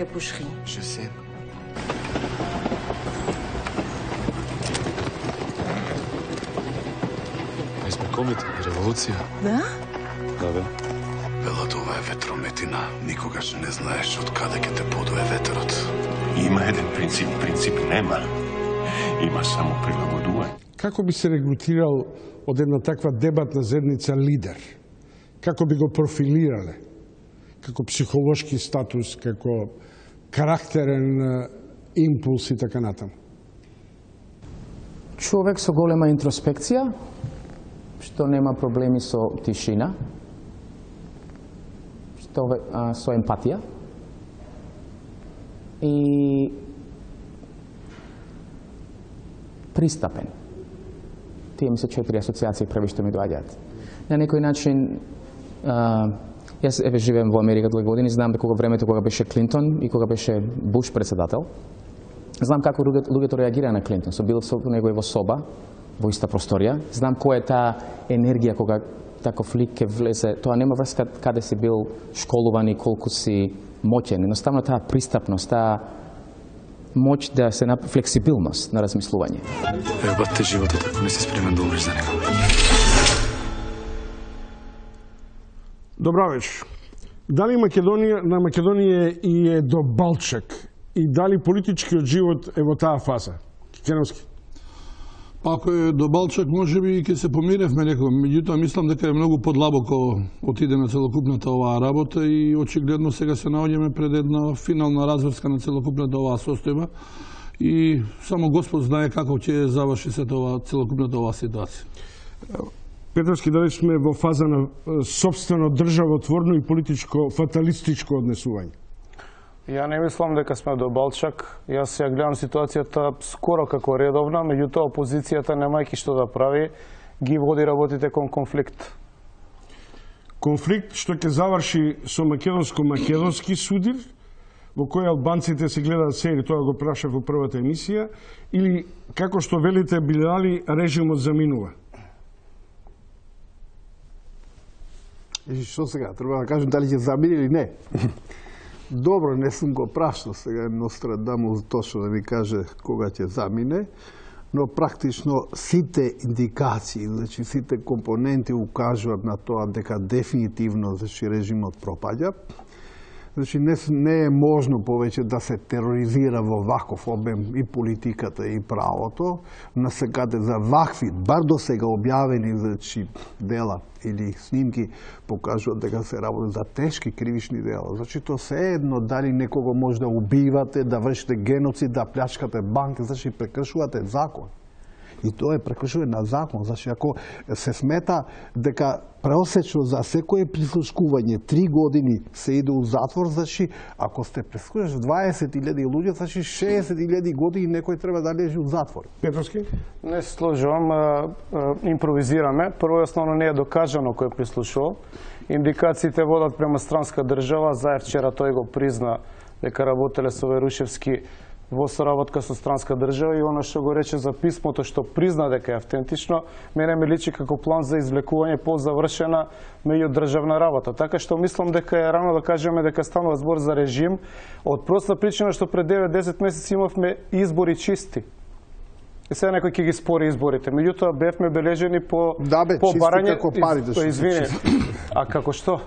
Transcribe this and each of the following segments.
кај Пушхин. Je sais. Ми сме комите, револуција. Да? Да, бе. Велат, ова е ветрометина. Никогаш не знаеш од каде ќе те подуе ветерот. Има еден принцип, принцип нема. Има само прилагодување. Како би се регрутирал од една таква дебатна заедница лидер? Како би го профилирале? Како психолошки статус, како карактерен импулс и така натаму? Човек со голема интроспекција, што нема проблеми со тишина, со емпатија и пристапен. Тие ми се 4 асоциации први што ми доаѓаат. На некој начин, јас живеем во Америка 2 години, знам дека времето кога беше Клинтон и кога беше Буш председател, знам како луѓето реагира на Клинтон. Бил со него во соба, во иста просторија. Знам која е таа енергија кога таков лик ке влезе. Тоа нема врска каде си бил школуван и колку си моќен. Едноставно таа пристапност, таа моќ да се флексибилност на размислување. Ебате животот ако не си спремен да умреш за него. Добра вечер. Дали на Македонија и е до балчак и дали политичкиот живот е во таа фаза? Кикеновски. Ако е до балчак, може би ќе се помиревме некој. Меѓутоа, мислам дека е многу подлабоко отиде на целокупната оваа работа и очигледно сега се наоѓаме пред една финална разврска на целокупната оваа состојба и само Господ знае како ќе заврши се целокупната оваа ситуација. Петровски, дали сме во фаза на собствено државотворно и политичко фаталистичко однесување? Ја не мислам дека сме до балчак. Јас ја гледам ситуацијата скоро како редовна, меѓутоа опозицијата немајќи што да прави, ги води работите кон конфликт. Конфликт што ќе заврши со македонско-македонски судир, во кој албанците се гледаат сери, тоа го прашав во првата емисија, или како што велите Билали, режимот заминува? И што сега, треба да кажем дали ќе замине или не. Добро, не сум го прашал сега Нострадамус точно да ми каже кога ќе замине, но практично сите индикации, значи сите компоненти укажуваат на тоа дека дефинитивно режимот пропаѓа. Значи не е можно повеќе да се тероризира во ваков обем и политиката и правото, на секаде за вакви, бар до сега објавени значи дела или снимки покажуваат дека се работи за тешки кривични дела. Значи тоа се едно дали некого може да убивате, да вршите геноцид, да плячкате банки, значи прекршувате закон. И тоа е прекршување на закон. Значи ако се смета дека преосечно за секое прислушкување 3 години се иде у затвор, значи ако сте прислушаш 20.000 луѓе, значи 60.000 години некој треба да лежи у затвор. Петровски? Не се сложувам, импровизираме. Прво основно не е докажано кој прислушувал. Индикациите водат према странска држава. Заев вчера тој го призна дека работеле со Верушевски во соработка со странска држава и она што го рече за писмото што призна дека е автентично, мене ми личи како план за извлекување позавршена меѓудржавна работа. Така што мислам дека е рано да кажеме дека станува збор за режим, од проста причина што пред 9-10 месеци имавме избори чисти. И сега некој ќе ги спори изборите. Меѓутоа бевме бележени по барање. Како парите што извини. А како што?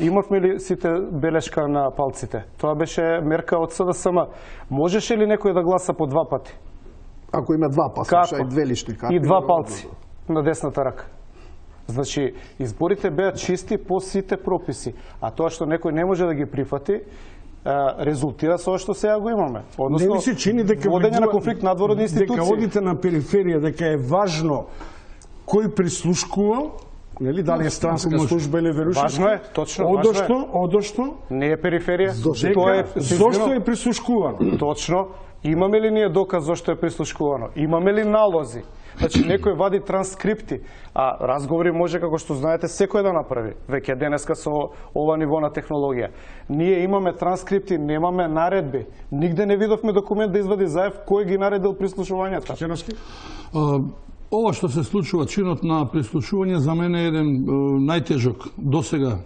Имавме ли сите белешка на палците? Тоа беше мерка од СДСМ. Можеше ли некој да гласа по 2 пати? Ако има 2 пасоша и 2 лични карти. И 2 палци на десната рака. Значи, изборите беа чисти по сите прописи. А тоа што некој не може да ги прифати, резултира со што сега го имаме. Односно, не ми се чини дека водење на конфликт надвор од институции. Дека одите на периферија, дека е важно кој прислушкува, нели, дали е странска служба или Верушевски. Важно е, точно. Одошто? Не е периферија. Зошто е прислушкувано? Точно. Имаме ли ние доказ зошто е прислушкувано? Имаме ли налози? Значи, некој вади транскрипти, а разговори може, како што знаете, секој да направи. Веќе денеска со ова ниво на технологија. Ние имаме транскрипти, немаме наредби. Нигде не видовме документ да извади Заев кој ги наредил прислушувањата. Ова што се случува, чинот на прислушување, за мене е еден најтежок досега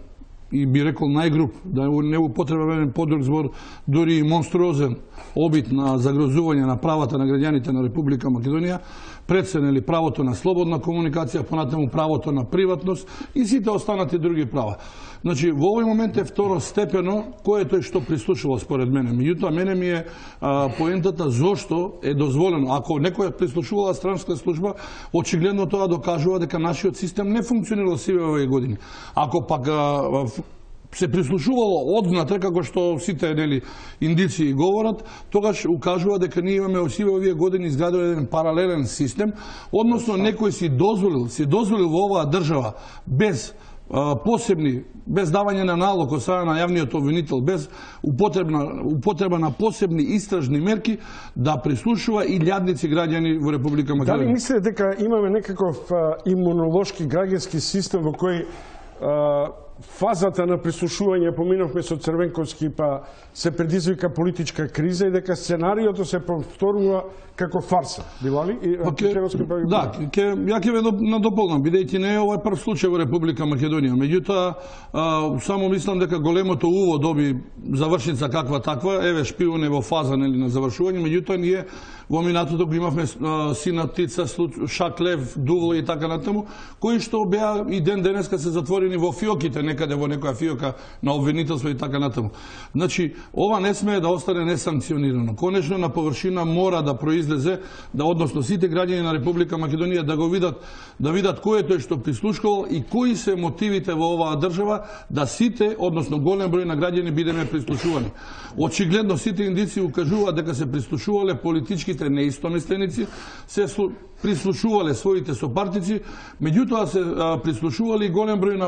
и би рекол најгруп, да не употребен подрг збор, дури и монструозен обид на загрозување на правата на граѓаните на Република Македонија, преценели правото на слободна комуникација, понатаму правото на приватност и сите останати други права. Значи, во овој момент е второстепено кој е тој што прислушува според мене. Меѓутоа, мене ми е поентата зошто е дозволено. Ако некој прислушувала странска служба, очигледно тоа докажува дека нашиот систем не функционира сиве овие години. Ако пак се прислушувало одвнатре, како што сите индици говорат, тогаш укажува дека ние имаме сиве овие години изграден еден паралелен систем, односно некој си дозволил во оваа држава без посебни, без давање на налог од страна на јавниот обвинител, без употреба на посебни истражни мерки, да прислушува и илјадници граѓани во Република Македонија. Дали мислите дека имаме некаков имунолошки граѓански систем во кој фазата на прислушување поминовме со Црвенковски, па се предизвика политичка криза и дека сценариото се повторува како фарса. Била ли? Да, ја ќе ве надополнам, бидејќи не е овој прв случај во Република Македонија. Меѓутоа, само мислам дека големото уво доби завршница каква таква, еве шпион е во фаза на завршување, меѓутоа ние во минатото го имавме Сина Птица, Шак Лев, Дувло и така натаму, кои што беа и ден денеска се затворени во фиоките, некаде во некоја фиока на обвинителство и така натаму. Значи, ова не смее да остане несанкционирано. Конечно, на површина мора да произлезе, да односно сите граѓани на Република Македонија да го видат, да видат кој е тој што прислушкувал и кои се мотивите во оваа држава да сите, односно голем број на граѓани бидеме прислушувани. Очигледно сите индици укажуваат дека се прислушувале политичките неистомисленици, се прислушувале своите сопартици, меѓутоа се прислушували и голем број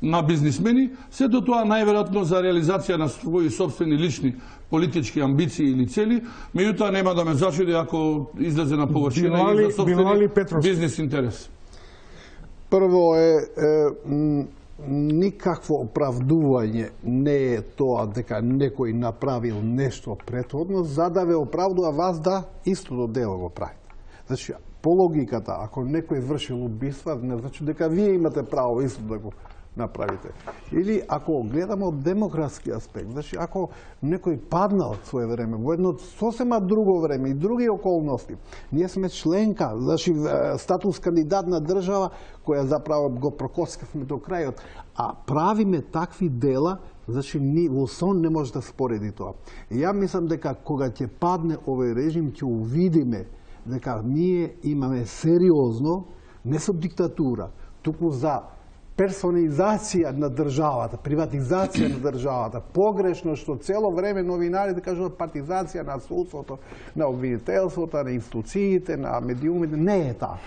на бизнисмени, сето тоа најверојатно за реализација на своји собствени лични политички амбиции или цели, меѓутоа нема да ме зачуди ако излезе на површина и за собствени бизнис интерес. Прво никакво оправдување не е тоа дека некој направил нешто претходно, за да ве оправдува вас да истото дело го правите. Значи, по логиката, ако некој вршил убиства, не значи дека вие имате право исто да го направите. Или ако гледаме од демократски аспект, значи ако некој паднал свое време во едно сосема друго време и други околности, ние сме членка, значи статус кандидат на држава која заправо го прокоскавме до крајот, а правиме такви дела, значи во сон не може да спореди тоа. И ја мислам дека кога ќе падне овој режим ќе увидиме дека ние имаме сериозно, не со диктатура, туку за персонализација на државата, приватизација на државата, погрешно што цело време новинарите кажуваат партизација на судството, на обвинителството, на институциите, на медиумите, не е таа.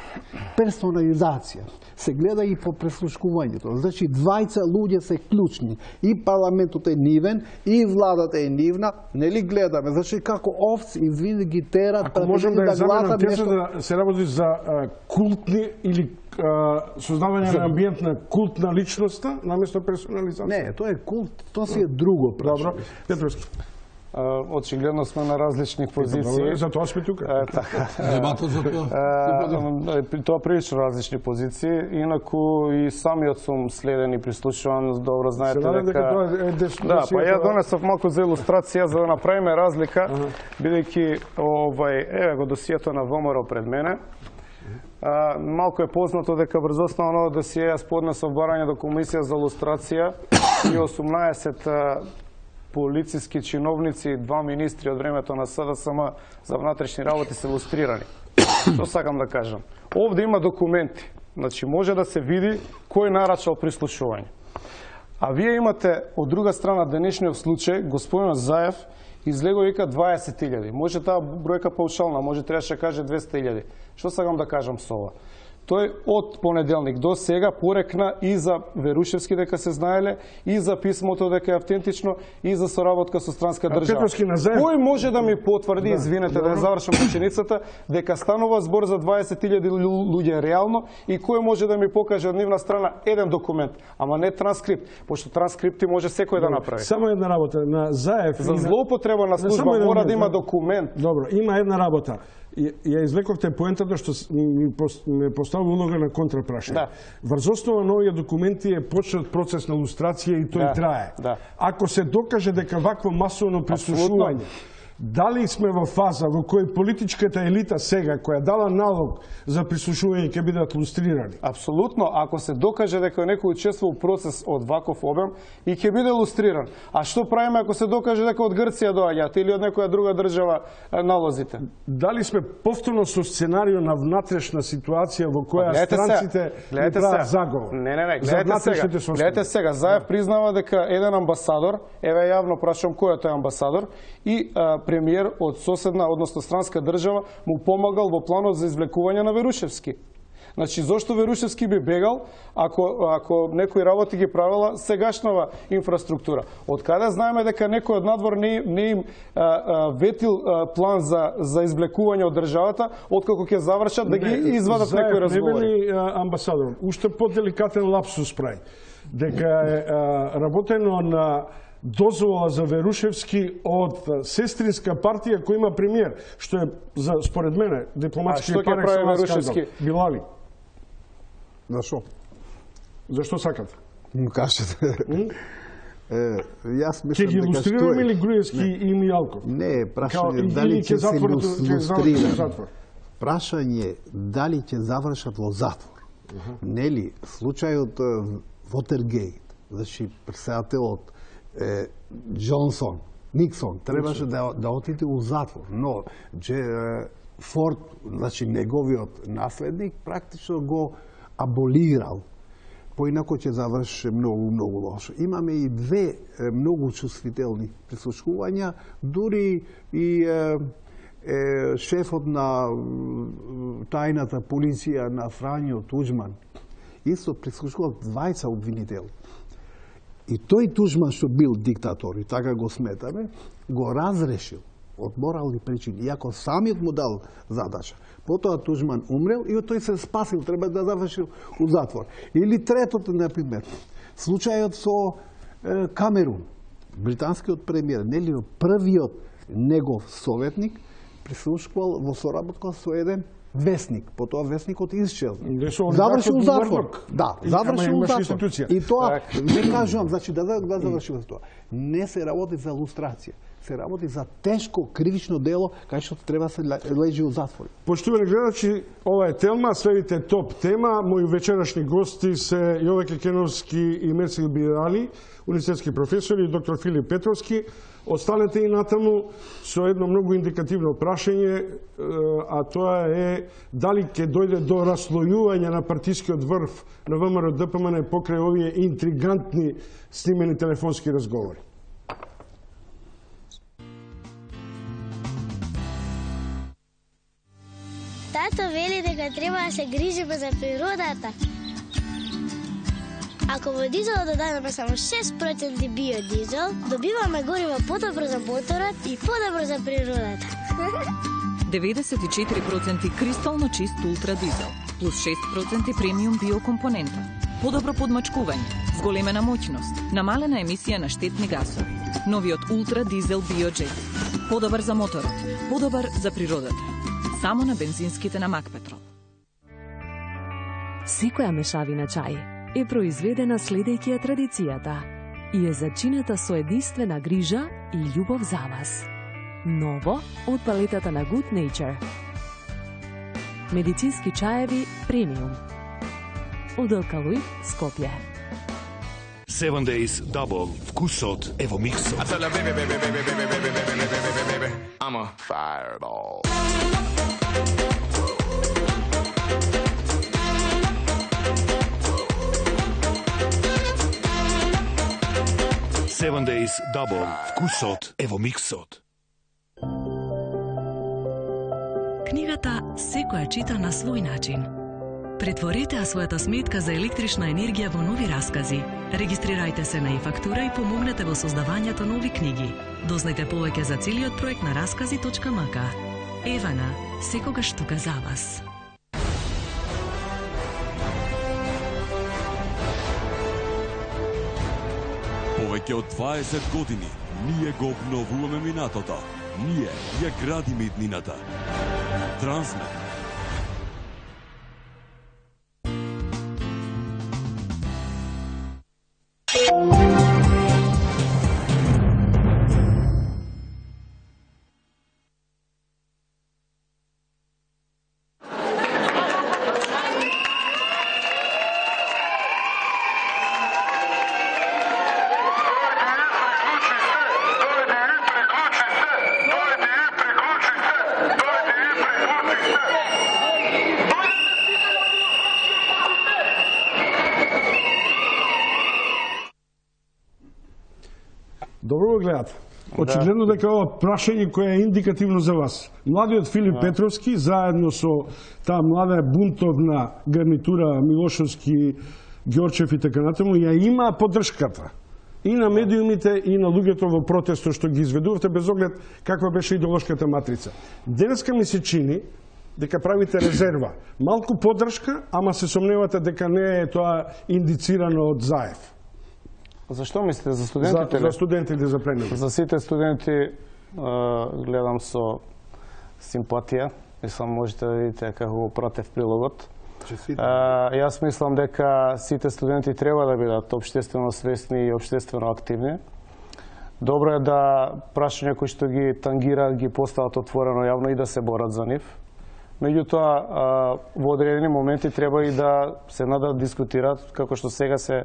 Персонализација се гледа и по преслушкувањето. Значи двајца луѓе се клучни. И парламентот е нивен, и владата е нивна, нели гледаме. Значи како овци извини ги терат, ако можам да гласат нешто да се работи за култни или создавање на амбиент на култна личноста наместо персонализација. Не, тоа е култ, тоа си е друго. Добро, Петровски. Очигледно сме на различни позиции. За тоа сме тука. Дебатот за тоа. Тоа прилично различни позиции, инаку и самиот сум следен и прислушуван, добро знаете дека... Да, па ја донесов малку за илустрација за да направиме разлика, бидејќи еве го досието на ВМРО пред мене. Малку е познато дека брзоснавно досие јас поднесов барање до Комисија за лустрација и 18 полициски чиновници, 2 министри од времето на СДСМ за внатрешни работи се лустрирани. Што сакам да кажам? Овде има документи. Значи може да се види кој нарачал прислушување. А вие имате од друга страна денешниот случај, господин Заев излего вика 20.000. Може таа бројка паушална, може требаше да каже 200.000. Што сакам да кажам со ова? Тој од понеделник до сега порекна и за Верушевски дека се знаеле, и за писмото дека е автентично, и за соработка со странска држава. Кој може да ми потврди, извинете да завршам реченицата, дека станува збор за 20.000 луѓе реално и кој може да ми покаже од нивна страна еден документ, ама не транскрипт, пошто транскрипти може секој да направи. Само една работа, на Заев... За злоупотреба на служба мора да има документ. Добро, има една работа. ја извлековте поентата што ме поставува улога на контрапрашање. Да. Врз основа на овие документи е почнат процес на лустрација и тој трае. Да. Ако се докаже дека вакво масовно прислушување, дали сме во фаза во кој политичката елита сега, која дала налог за прислушување, ќе бидат лустрирани? Апсолутно, ако се докаже дека некој учествува у процес од ваков обем и ќе биде лустриран. А што правиме ако се докаже дека од Грција доаѓаат или од некоја друга држава налозите? Дали сме повторно со сценарио на внатрешна ситуација во која странците не прават заговор? Не, гледате сега. Заев признава дека еден амбасадор, еве јавно прашам кој е тој амбасадор, и премиер од соседна, односно странска држава, му помагал во планот за извлекување на Верушевски. Значи, зошто Верушевски би бегал ако некои работи ги правила сегашнава инфраструктура? Од каде знаеме дека некој од надвор не им ветил план за извлекување од државата, откако ќе завршат да ги извадат некои разговори? Не вели амбасадор, уште поделикатен лапсус прави, дека е работено на дозвола за Верушевски од сестринска партија која има премиер, што е, според мене, дипломатски парек со Верушевски. Билали. Зашо? Зашто сакате? Кажете. Јас Ќе мислам ги дека илустрираме ли Груевски и Мијалков? Не, прашање дали ќе се илустрират. Прашање дали ќе завршат во затвор. Нели, случајот Вотергейт, значи председателот Джонсон, Никсон, требаше да отиде у затвор, но Форд, значи неговиот наследник, практично го аболирал. Поинако ќе заврши многу лошо. Имаме и две многу чувствителни прислушувања, дури и шефот на тајната полиција на Фрањо Туџман исто прислушувал двајца обвинители. И тој Туџман што бил диктатор, и така го сметаме, го разрешил од морални причини, иако самиот му дал задача. Потоа Туџман умрел и тој се спасил, треба да завршил у затвор. Или третото, например, случајот со Камерун, британскиот премиер, нели првиот негов советник прислушувал во соработка со еден весник, потоа весникот исчезна. Завршил у затвор. Да, завршил у затвор. И тоа, не кажувам, значи да завршил за тоа. Не се работи за лустрација, се работи за тешко кривично дело, кај што треба се лежи у затвор. Поштувани гледачи, ова е Телма, следите топ тема. Мои вечерашни гости се Јове Кекеновски и Мерцил Бирали, универзитетски професори, и доктор Филип Петровски. Останете и натаму со едно многу индикативно прашање, а тоа е дали ќе дојде до раслојување на партискиот врв на ВМРО ДПМН покрај овие интригантни снимени телефонски разговори. Тато вели дека треба да се грижиме за природата. Ако во дизелот додадеме само 6% биодизел, добиваме гориво подобро за моторот и подобро за природата. 94% кристално чист ултра дизел, плюс 6% премиум биокомпонента. Подобро подмачкување, зголемена моќност, намалена емисија на штетни гасови. Новиот ултра дизел биоджет. Подобар за моторот, подобар за природата. Само на бензинските на Макпетрол. Секоја мешавина чај е произведена следејќи ја традицијата и е зачинета со единствена грижа и љубов за вас. Ново од палетата на Good Nature. Медицински чаеви премиум. Од Алкалоид, Скопје. 7 Days Double. Вкусот е во миксот. I tell her, baby, I'm a fireball. Seven Days Double. Вкусот е во миксот. Книгата секоја чита на свој начин. Претворете ја својата сметка за електрична енергија во нови раскази. Регистрирајте се на e-фактура и помогнете во создавањето нови книги. Дознајте повеќе за целиот проект на раскази.мк. Евана, секогаш тука за вас. Повеќе од 20 години ние го обновуваме минатото. Ние ја градиме иднината. Трансмет. Добро го гледате. Очигледно дека ова прашање кое е индикативно за вас. Младиот Филип Петровски, заедно со таа млада бунтовна гарнитура Милошовски, Ѓорчев и така натаму, ја имаа поддршката и на медиумите и на луѓето во протестот што ги изведувате, без оглед каква беше идеолошката матрица. Денеска ми се чини дека правите резерва. Малку поддршка, ама се сомневате дека не е тоа индицирано од Заев. Зашто мислите за студентите? За студентите за пленум. За сите студенти гледам со симпатија. Мислам можете да видите како го пратев прилогот. Јас мислам дека сите студенти треба да бидат општествено свесни и општествено активни. Добро е да прашања кои што ги тангираат ги постават отворено јавно и да се борат за нив. Меѓутоа, во одредени моменти треба и да се да дискутираат, како што сега се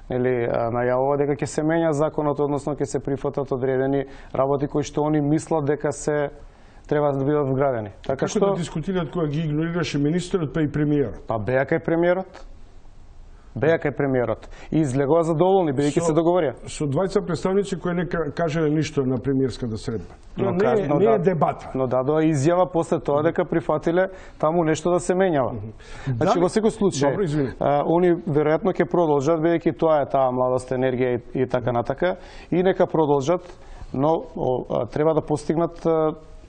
најавува дека ќе се менја законот, односно ќе се прифатат одредени работи кои што они мислат дека се треба да бидат вградени. Така што да дискутираат кога ги игнорираше министерот па и премиерот? Па беа кај премиерот. Беа кај премиерот. И излегува задоволни, бидејќи се договорија. Со двајца представници кои не кажале ништо на премиерската средба. Тоа не е дебата. Но дадоа изјава после тоа дека прифатиле таму нешто да се менјава. Значи, во секој случај, они веројатно ќе продолжат, бидејќи тоа е таа младост, енергија и така натака, и нека продолжат, но треба да постигнат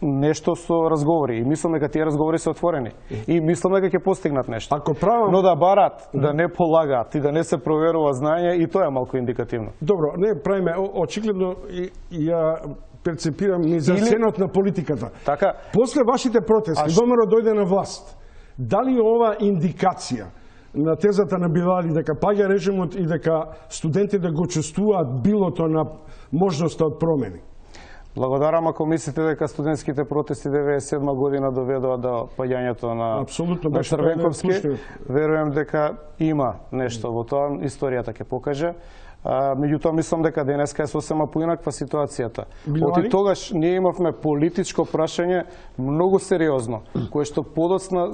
нешто со разговори. И мислам дека тие разговори се отворени. И мислам дека ќе постигнат нешто. Но да барат, да не полагаат и да не се проверува знаење, и тоа е малку индикативно. Добро, не правиме, очигледно ја перцепирам низасценот на политиката. Така. После вашите протести, ВМРО дојде на власт. Дали ова индикација на тезата на Билали дека паѓа режимот и дека студентите го чувствуваат билото на можноста од промени? Благодарам ако мислите дека студентските протести 97 година доведоа до паѓањето на Црвенковски. Верувам дека има нешто во тоа, историјата ќе покаже. Меѓутоа мислам дека денеска е сосема поинаква ситуацијата. Оти тогаш ние имавме политичко прашање многу сериозно, кое што подоцна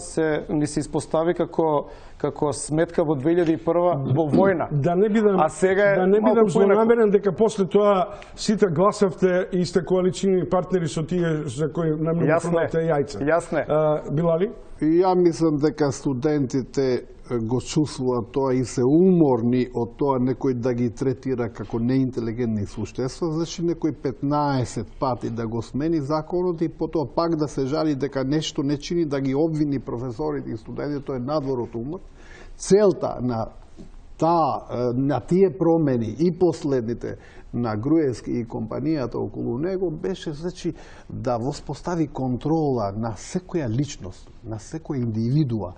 ни се испостави како сметка во 2001 во војна. Да не бидам злонамерен дека после тоа сите гласавте и сте коалициони партнери со тие за кои намногу продавте јајца. Јасне. Билали? И ја мислам дека студентите го чувствуваат тоа и се уморни од тоа некој да ги третира како неинтелигентни суштества, значи некој 15 пати да го смени законот и потоа пак да се жали дека нешто не чини, да ги обвини професорите и студентите, тоа е надвор од умот. Целта на тие промени и последните на Груевски и компанијата околу него беше значи да воспостави контрола на секоја личност, на секоја индивидуа,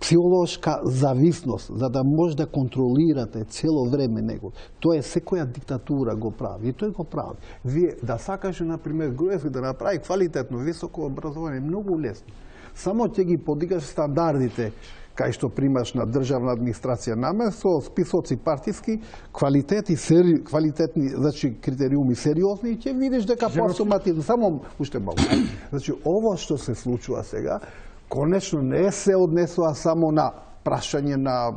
психолошка зависност, за да може да контролирате цело време него. Тоа е секоја диктатура го прави и тој го прави. Вие да сакаше например Груевски да направи квалитетно високо образование многу лесно. Само ќе ги подигаш стандардите кај што примаш на државна администрација наместо списоци партиски, квалитетни, значи критериуми сериозни и ќе видиш дека по-автоматично, само уште малку. Значи ово што се случува сега, конечно не се однесува само на прашање на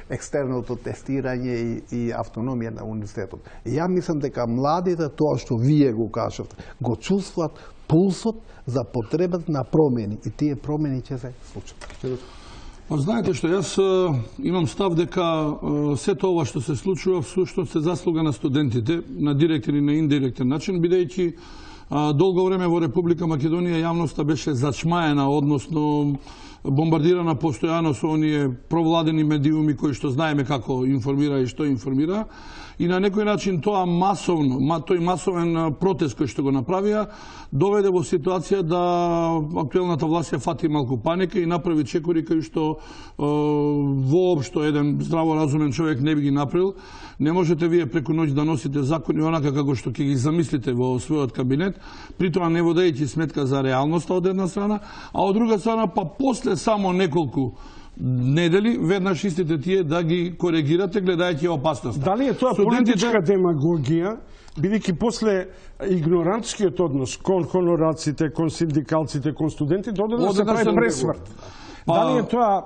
екстерното тестирање и автономија на университетот. Ја мислам дека младите, тоа што вие го кажавте, го чувствуват пулсот за потребата на промени и тие промени ќе се случат. Знаете што, јас имам став дека сето ова што се случува всушност се заслуга на студентите, на директен и на индиректен начин, бидејќи долго време во Република Македонија јавноста беше зачмаена, односно бомбардирана постојано со оние провладени медиуми кои што знаеме како информира и што информира. И на некој начин тој масовен протест кој што го направија доведе во ситуација да актуелната власт ја фати малку паника и направи чекори кои што воопшто еден здраворазумен човек не би ги направил. Не можете вие преку ноќ да носите закони онака како што ќе ги замислите во својот кабинет, притоа не водејќи сметка за реалноста од една страна, а од друга страна па после само неколку недели веднаш истите тие да ги коригирате гледајќи опасноста. Дали е тоа политичка демагогија, бидејќи после игнорантскиот однос кон хонораците, кон синдикалците, кон студентите, оде да се прави пресврт. Дали е тоа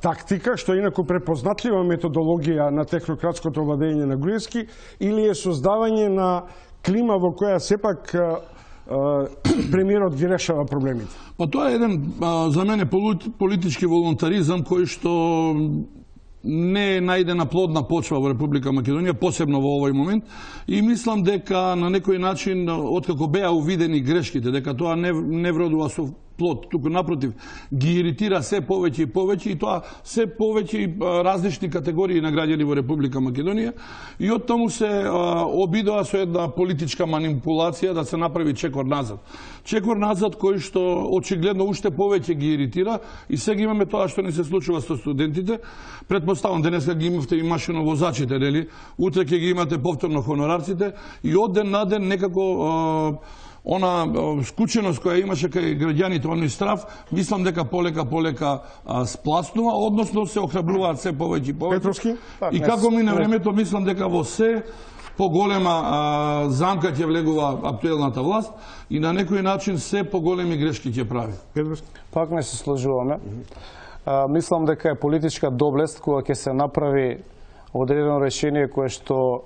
тактика, што е инаку препознатлива методологија на технократското владење на Груевски, или е создавање на клима во која сепак премиерот ги решава проблемите? Па тоа е еден, за мене, политички волонтаризам кој што не е најдена плодна почва во Република Македонија, посебно во овој момент, и мислам дека на некој начин, откако беа увидени грешките, дека тоа не вродува со плод, туку напротив, ги иритира се повеќе и повеќе, и тоа се повеќе различни категории на граѓани во Република Македонија, и од таму се обидоа со една политичка манипулација да се направи чекор назад. Чекор назад кој што очигледно уште повеќе ги иритира, и сега имаме тоа што не се случува со студентите. Предпоставам, денеска ги имавте и машиновозачите, нели? Утре ќе ги имате повторно хонорарците, и од ден на ден некако она скученост која имаше кај граѓаните, оној страв, мислам дека полека спласнува, односно се охрабруваат се повеќе и повеќе. И како мине времето, мислам дека во се поголема замка ќе влегува актуелната власт и на некој начин се поголеми грешки ќе прави. Пак не се сложуваме. Мислам дека е политичка доблест кога ќе се направи одредено решение кое што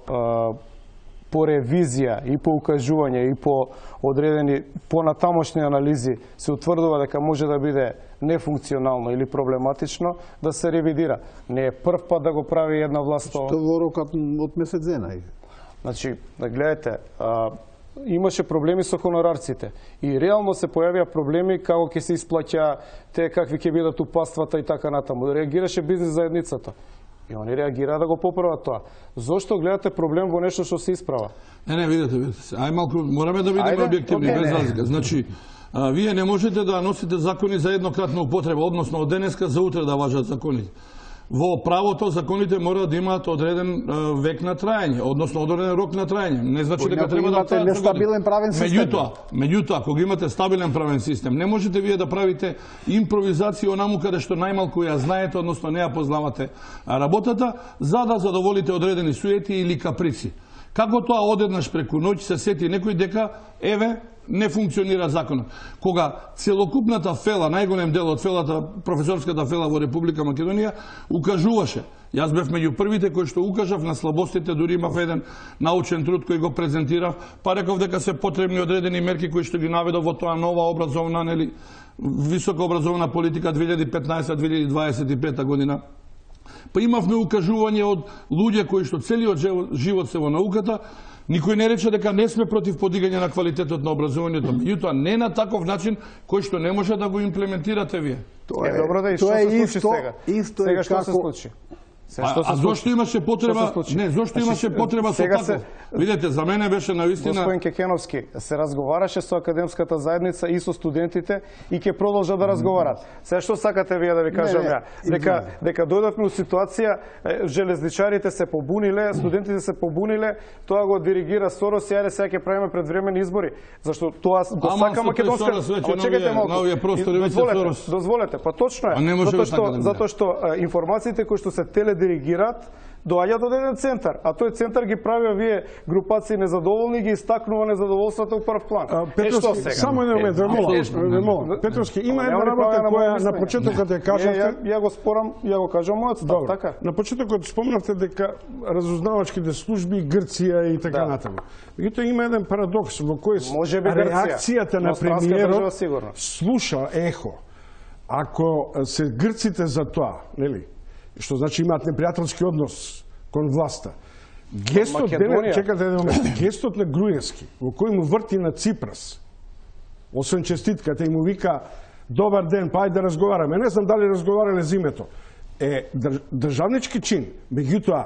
по ревизија и по укажување и по одредени понатамошни анализи се утврдува дека може да биде нефункционално или проблематично, да се ревидира. Не е прв пат да го прави една власт. Што во рокот од месец дена? Значи, гледате, имаше проблеми со хонорарците и реално се појавија проблеми како ќе се исплаќа те, какви ќе бидат упаствата и така натаму. Реагираше бизнес заедницата. И они реагираа да го поправат тоа. Зошто гледате проблем во нешто што се исправа? Не, видете. Ај малку, мораме да бидеме објективни, без разлика. Значи, вие не можете да носите закони за еднократна употреба, односно од денеска за утре да важат законите. Во правото законите мора да имаат одреден век на траење, односно одреден рок на траење. Не значи дека треба да имате нестабилен правен систем. Меѓутоа, кога имате стабилен правен систем, не можете вие да правите импровизација онаму каде што најмалку ја знаете, односно не ја познавате работата, за да задоволите одредени суети или каприци. Како тоа одеднаш преку ноќ се сети некој дека еве не функционира законот. Кога целокупната фела, најголем дел од фелата, професорската фела во Република Македонија, укажуваше. Јас бев меѓу првите кои што укажав на слабостите, дури имав еден научен труд кој го презентирав, па реков дека се потребни одредени мерки кои што ги наведов во тоа нова образовна, нели, висока образовна политика 2015-2025 година. Па имавме укажување од луѓе кои што целиот живот се во науката. Никој не рече дека не сме против подигање на квалитетот на образованието, меѓутоа не на таков начин кој што не може да го имплементирате вие. Тоа е добро да и што се случи сега? Сега што се случи? А зошто имаше потреба? Не, зошто имаше потреба со тако? Видете, за мене беше навистина... Господин Кекеновски, се разговараше со академската заедница и со студентите и ќе продолжат да разговарат. Сега што сакате вие да ви кажам ја? Дека дојдовме у ситуација, железничарите се побуниле, студентите се побуниле, тоа го диригира Сорос и ајде сега ќе правиме предвремени избори. Зашто тоа го сака македонска... Чекайте малку. Дозволете, па точно е. Затоа што информациите кои што се теледиригираат доаѓаат од еден центар, а тој центар ги прави вие групации незадоволни и ги истакнува незадоволството у прв план. Петровски, само еден момент, молам. Петровски, има една работа која на почетокот ја кажавте. Ја го спорам, ја го кажам мојот став, така. На почетокот спомнавте дека разузнавачките служби Грција и така натаму. Меѓутоа има еден парадокс во кој реакцијата на премиерот слуша ехо. Ако се грците за тоа, нели? Што значи имаат непријателски однос кон власта. Гестот, чекате еден момент, гестот на Груевски, во кој му врти на Ципрас, освен честитката и му вика добар ден, па ајде да разговараме. Не знам дали разговарале за името. Државнички чин, меѓутоа,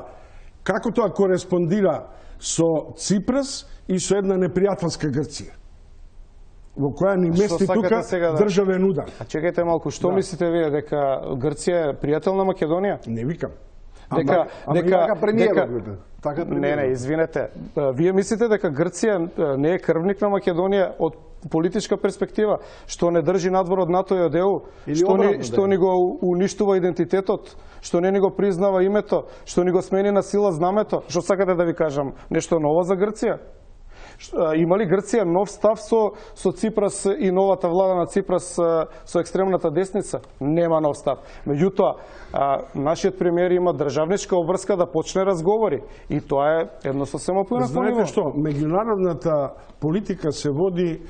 како тоа кореспондира со Ципрас и со една непријателска Грција, во која ни мести тука државен удар. А чекајте малку, што мислите вие, дека Грција е пријател на Македонија? Не викам. Не, извинете. Вие мислите дека Грција не е крвник на Македонија од политичка перспектива, што не држи надвор од НАТО и од ЕУ, што ни го уништува идентитетот, што не ни го признава името, што ни го смени на сила знамето? Што сакате да ви кажам? Нешто ново за Грција? Има ли Грција нов став со Ципрас и новата влада на Ципрас со екстремната десница? Нема нов став. Меѓутоа, нашиот премиер има државничка обврска да почне разговори. И тоа е едно сосема поинако ниво. Знаете што? Меѓународната политика се води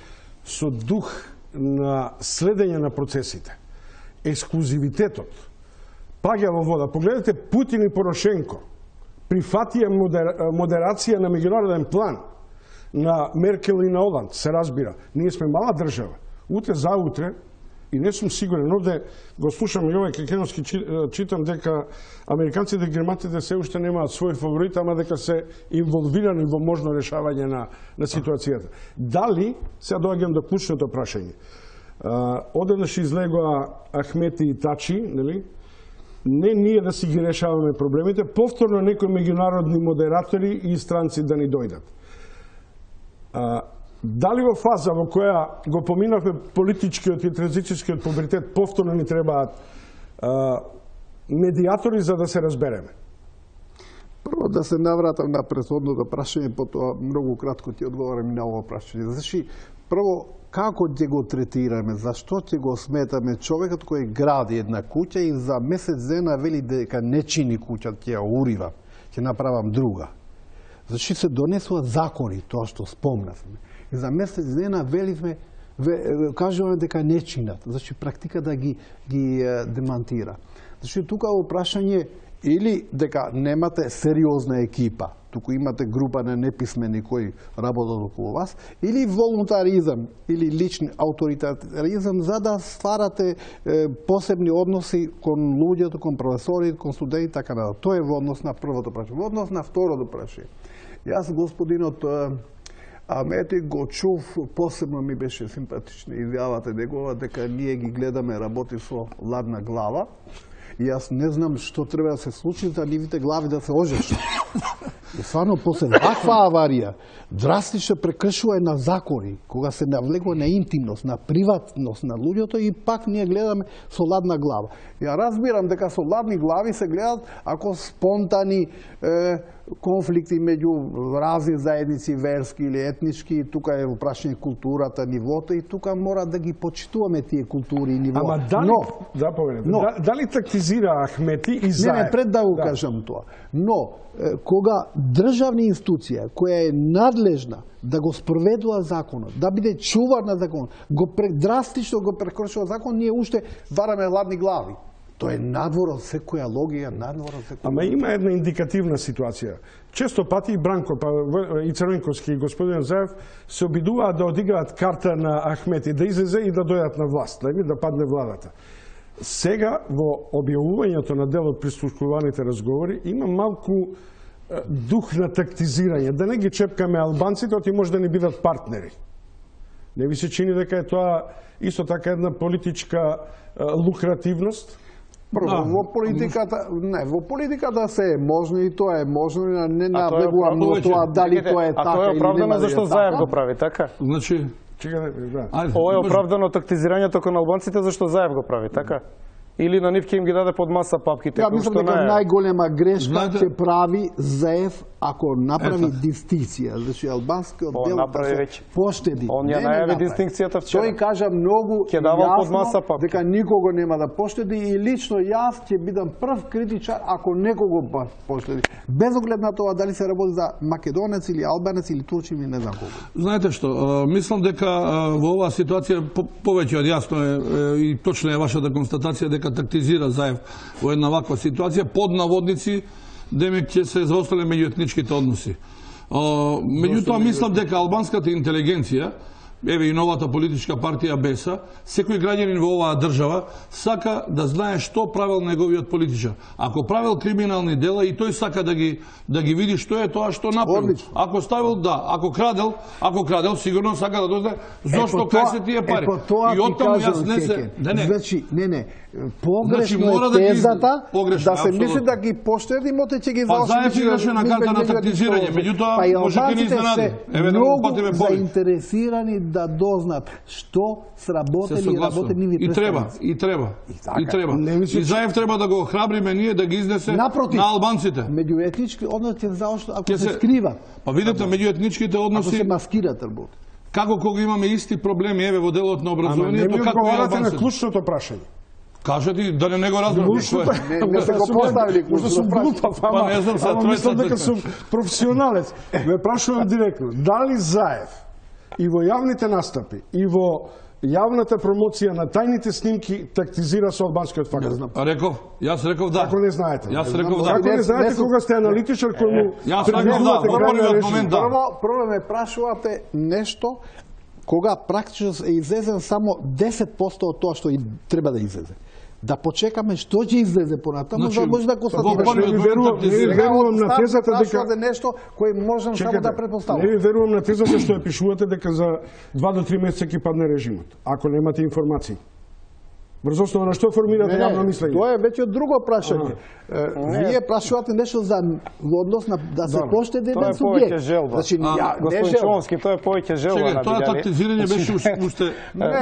со дух на следење на процесите. Ексклузивитетот паѓа во вода. Погледнете Путин и Порошенко. Прифатија модерација на меѓународен план на Меркел и на Оланд, се разбира. Ние сме мала држава. Утре заутре, и не сум сигурен, овде го слушам Јован Кекеновски, читам дека американците и германците се уште немаат свој фаворит, ама дека се инволвирани во можно решавање на ситуацијата. Дали, сега доаѓам до клучното прашање, одеднаш излегоа Ахмети и Тачи, нели? Не ние да си ги решаваме проблемите, повторно некои меѓународни модератори и странци да ни дојдат. Дали во фаза во која го поминавме политичкиот и транзицијскиот пубертет, повторно ни требаат медиатори за да се разбереме? Прво да се навратам на претходното прашање, потоа многу кратко ти одговорам и на ово прашање. Значи, прво, како ќе го третираме, зашто ќе го сметаме човекот кој гради една куќа и за месец дена вели дека не чини куќа, ќе ја урива, ќе направам друга. Значи се донесува закони, тоа што спомнавме. И за месец дена веливме, кажуваме дека не чинат. Значи практика да ги демантира. Значи тука во прашање или дека немате сериозна екипа, туку имате група на неписмени кои работат околу вас, или волунтаризам, или лични авторитаризам, за да стварате посебни односи кон луѓето, кон професори, кон студенти, така да. Тоа е во однос на првото прашање. Во однос на второто прашање. Јас господинот Амети го чув, посебно ми беше симпатична изјавата негова дека ние ги гледаме работи со ладна глава. И јас не знам што треба да се случи за нивите глави да се ожешат. И стварно после ваква аварија, драстично прекршување на закони, кога се навлегува на интимност, на приватност на луѓето и пак ние гледаме со ладна глава. Ја разбирам дека со ладни глави се гледат ако спонтани конфликти меѓу разни заедници, верски или етнички, тука е во прашање културата, нивото и тука мора да ги почитуваме тие култури и нивото. Ама дали, дали тактизира Ахмети и Заев? Не, пред да го кажам тоа. Но, кога државна институција која е надлежна да го спроведува законот, да биде чувар на законот, драстично го прекршува закон, ние уште вараме ладни глави. Тоа е надвор од секоја логија, надвор од секоја. Ама има една индикативна ситуација. Често пати и Бранко, и Црвенковски, и господин Заев се обидуваат да одиграат карта на Ахмети, да излезе и да дојдат на власт, да падне владата. Сега, во објавувањето на дел од прислушкуваните разговори, има малку дух на тактизирање, да не ги чепкаме албанците, оти може да не бидат партнери. Не ви се чини дека е тоа исто така една политичка лукративност? Во политиката се е можно и тоа е можно, не навлегувам во тоа дали тоа е така или нема. А тоа е оправдано зашто Заев го прави, така? Значи, ова е оправдано тактизирањето кон албанците зашто Заев го прави, така? Или на нив ќе им ги даде под маса папките? Ја мислам дека најголема грешка ќе прави Заев ако направи дистинкција. Значи албанскиот дел поштеди. Он ја најави дистинкцијата вчера. Тој кажа многу јасно дека никого нема да поштеди и лично јас ќе бидам прв критичар ако некого поштеди. Без оглед на тоа дали се работи за македонец или албанец или турчин или не знам кого. Знаете што, мислам дека во оваа ситуација повеќе од јасно е и точно е вашата констатација дека тактизира Заев во една ваква ситуација, под наводници, демек ќе се заостале меѓуетничките односи. Меѓутоа, мислам дека албанската интелигенција еве и новата политичка партија БЕСА, секој граѓанин во оваа држава сака да знае што правел неговиот политичар. Ако правел криминални дела и тој сака да ги види што е тоа што направил. Ако ставил ако крадел, сигурно сака да дозна зошто кај се тие пари. И оттаму јас не се Значи, погрешно е тезата да се мисли да ги поштеди, моте ќе ги заошти. Па Заев играше на карта на тактизирање, меѓутоа може да ни изненади. Еве да го патиме повеќе. Заинтересирани да дознат што сработели и работени нивни представници. И треба. И Заев треба да го охрабриме ние да ги изнесе на албанците. Меѓуетнички односи заошто ако се скриват. Па видите, меѓуетничките односи ако се маскират работи. Како кога имаме исти проблеми еве во делот на образованието, како и албанците. На клучното прашање. Кажете да не го разберам. Не се го поставили клучното прашање. Па не знам, сега мислам дека сум професионалец. Ме прашувам директно, дали Заев и во јавните настапи и во јавната промоција на тајните снимки тактизира со албанскиот фактор? Јас реков да. Како не знаете? Јас реков да. Како не знаете кога сте аналитичар кој му... Јас реков да, во првиот момент да. Прво ме прашувате нешто кога практично е излезен само 10% од тоа што треба да излезе. Да почекаме што ќе излезе понатаму, за да може да констатираме. Не верувам на тезата дека нешто кој можам само да претпоставам. Не верувам на тезата што ја пишувате дека за 2 до 3 месеци ќе падне режимот, ако немате информации. Врз основа на што формирате јавно мислење? Тоа е веќе друго прашање. Вие прашувате нешто за во однос на да се поштеди еден субјект. Значи, господин Човски, тоа е повеќе желба на тоа тактизирање беше уште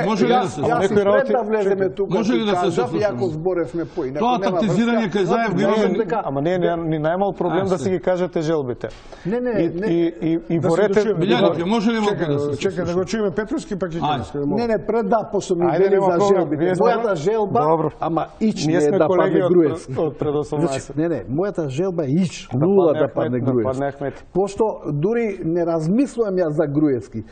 може ли да се некој да влеземе тука. Може ли да се Јако зборевме поинаку. Тоа тактизирање кај Заев го имаме. Ама не ни најмал проблем да си ги кажете желбите. И борете Билјаните, може ли малку да се чекај да го чуеме Петровски пак ќе кажеме. Не, пред да пошто ми вели за желбите. Мојата желба, ама ич не е да падне Груевски. Не, мојата желба е ич, нула да падне Груевски. Пошто дури не размислувам ја за Груевски.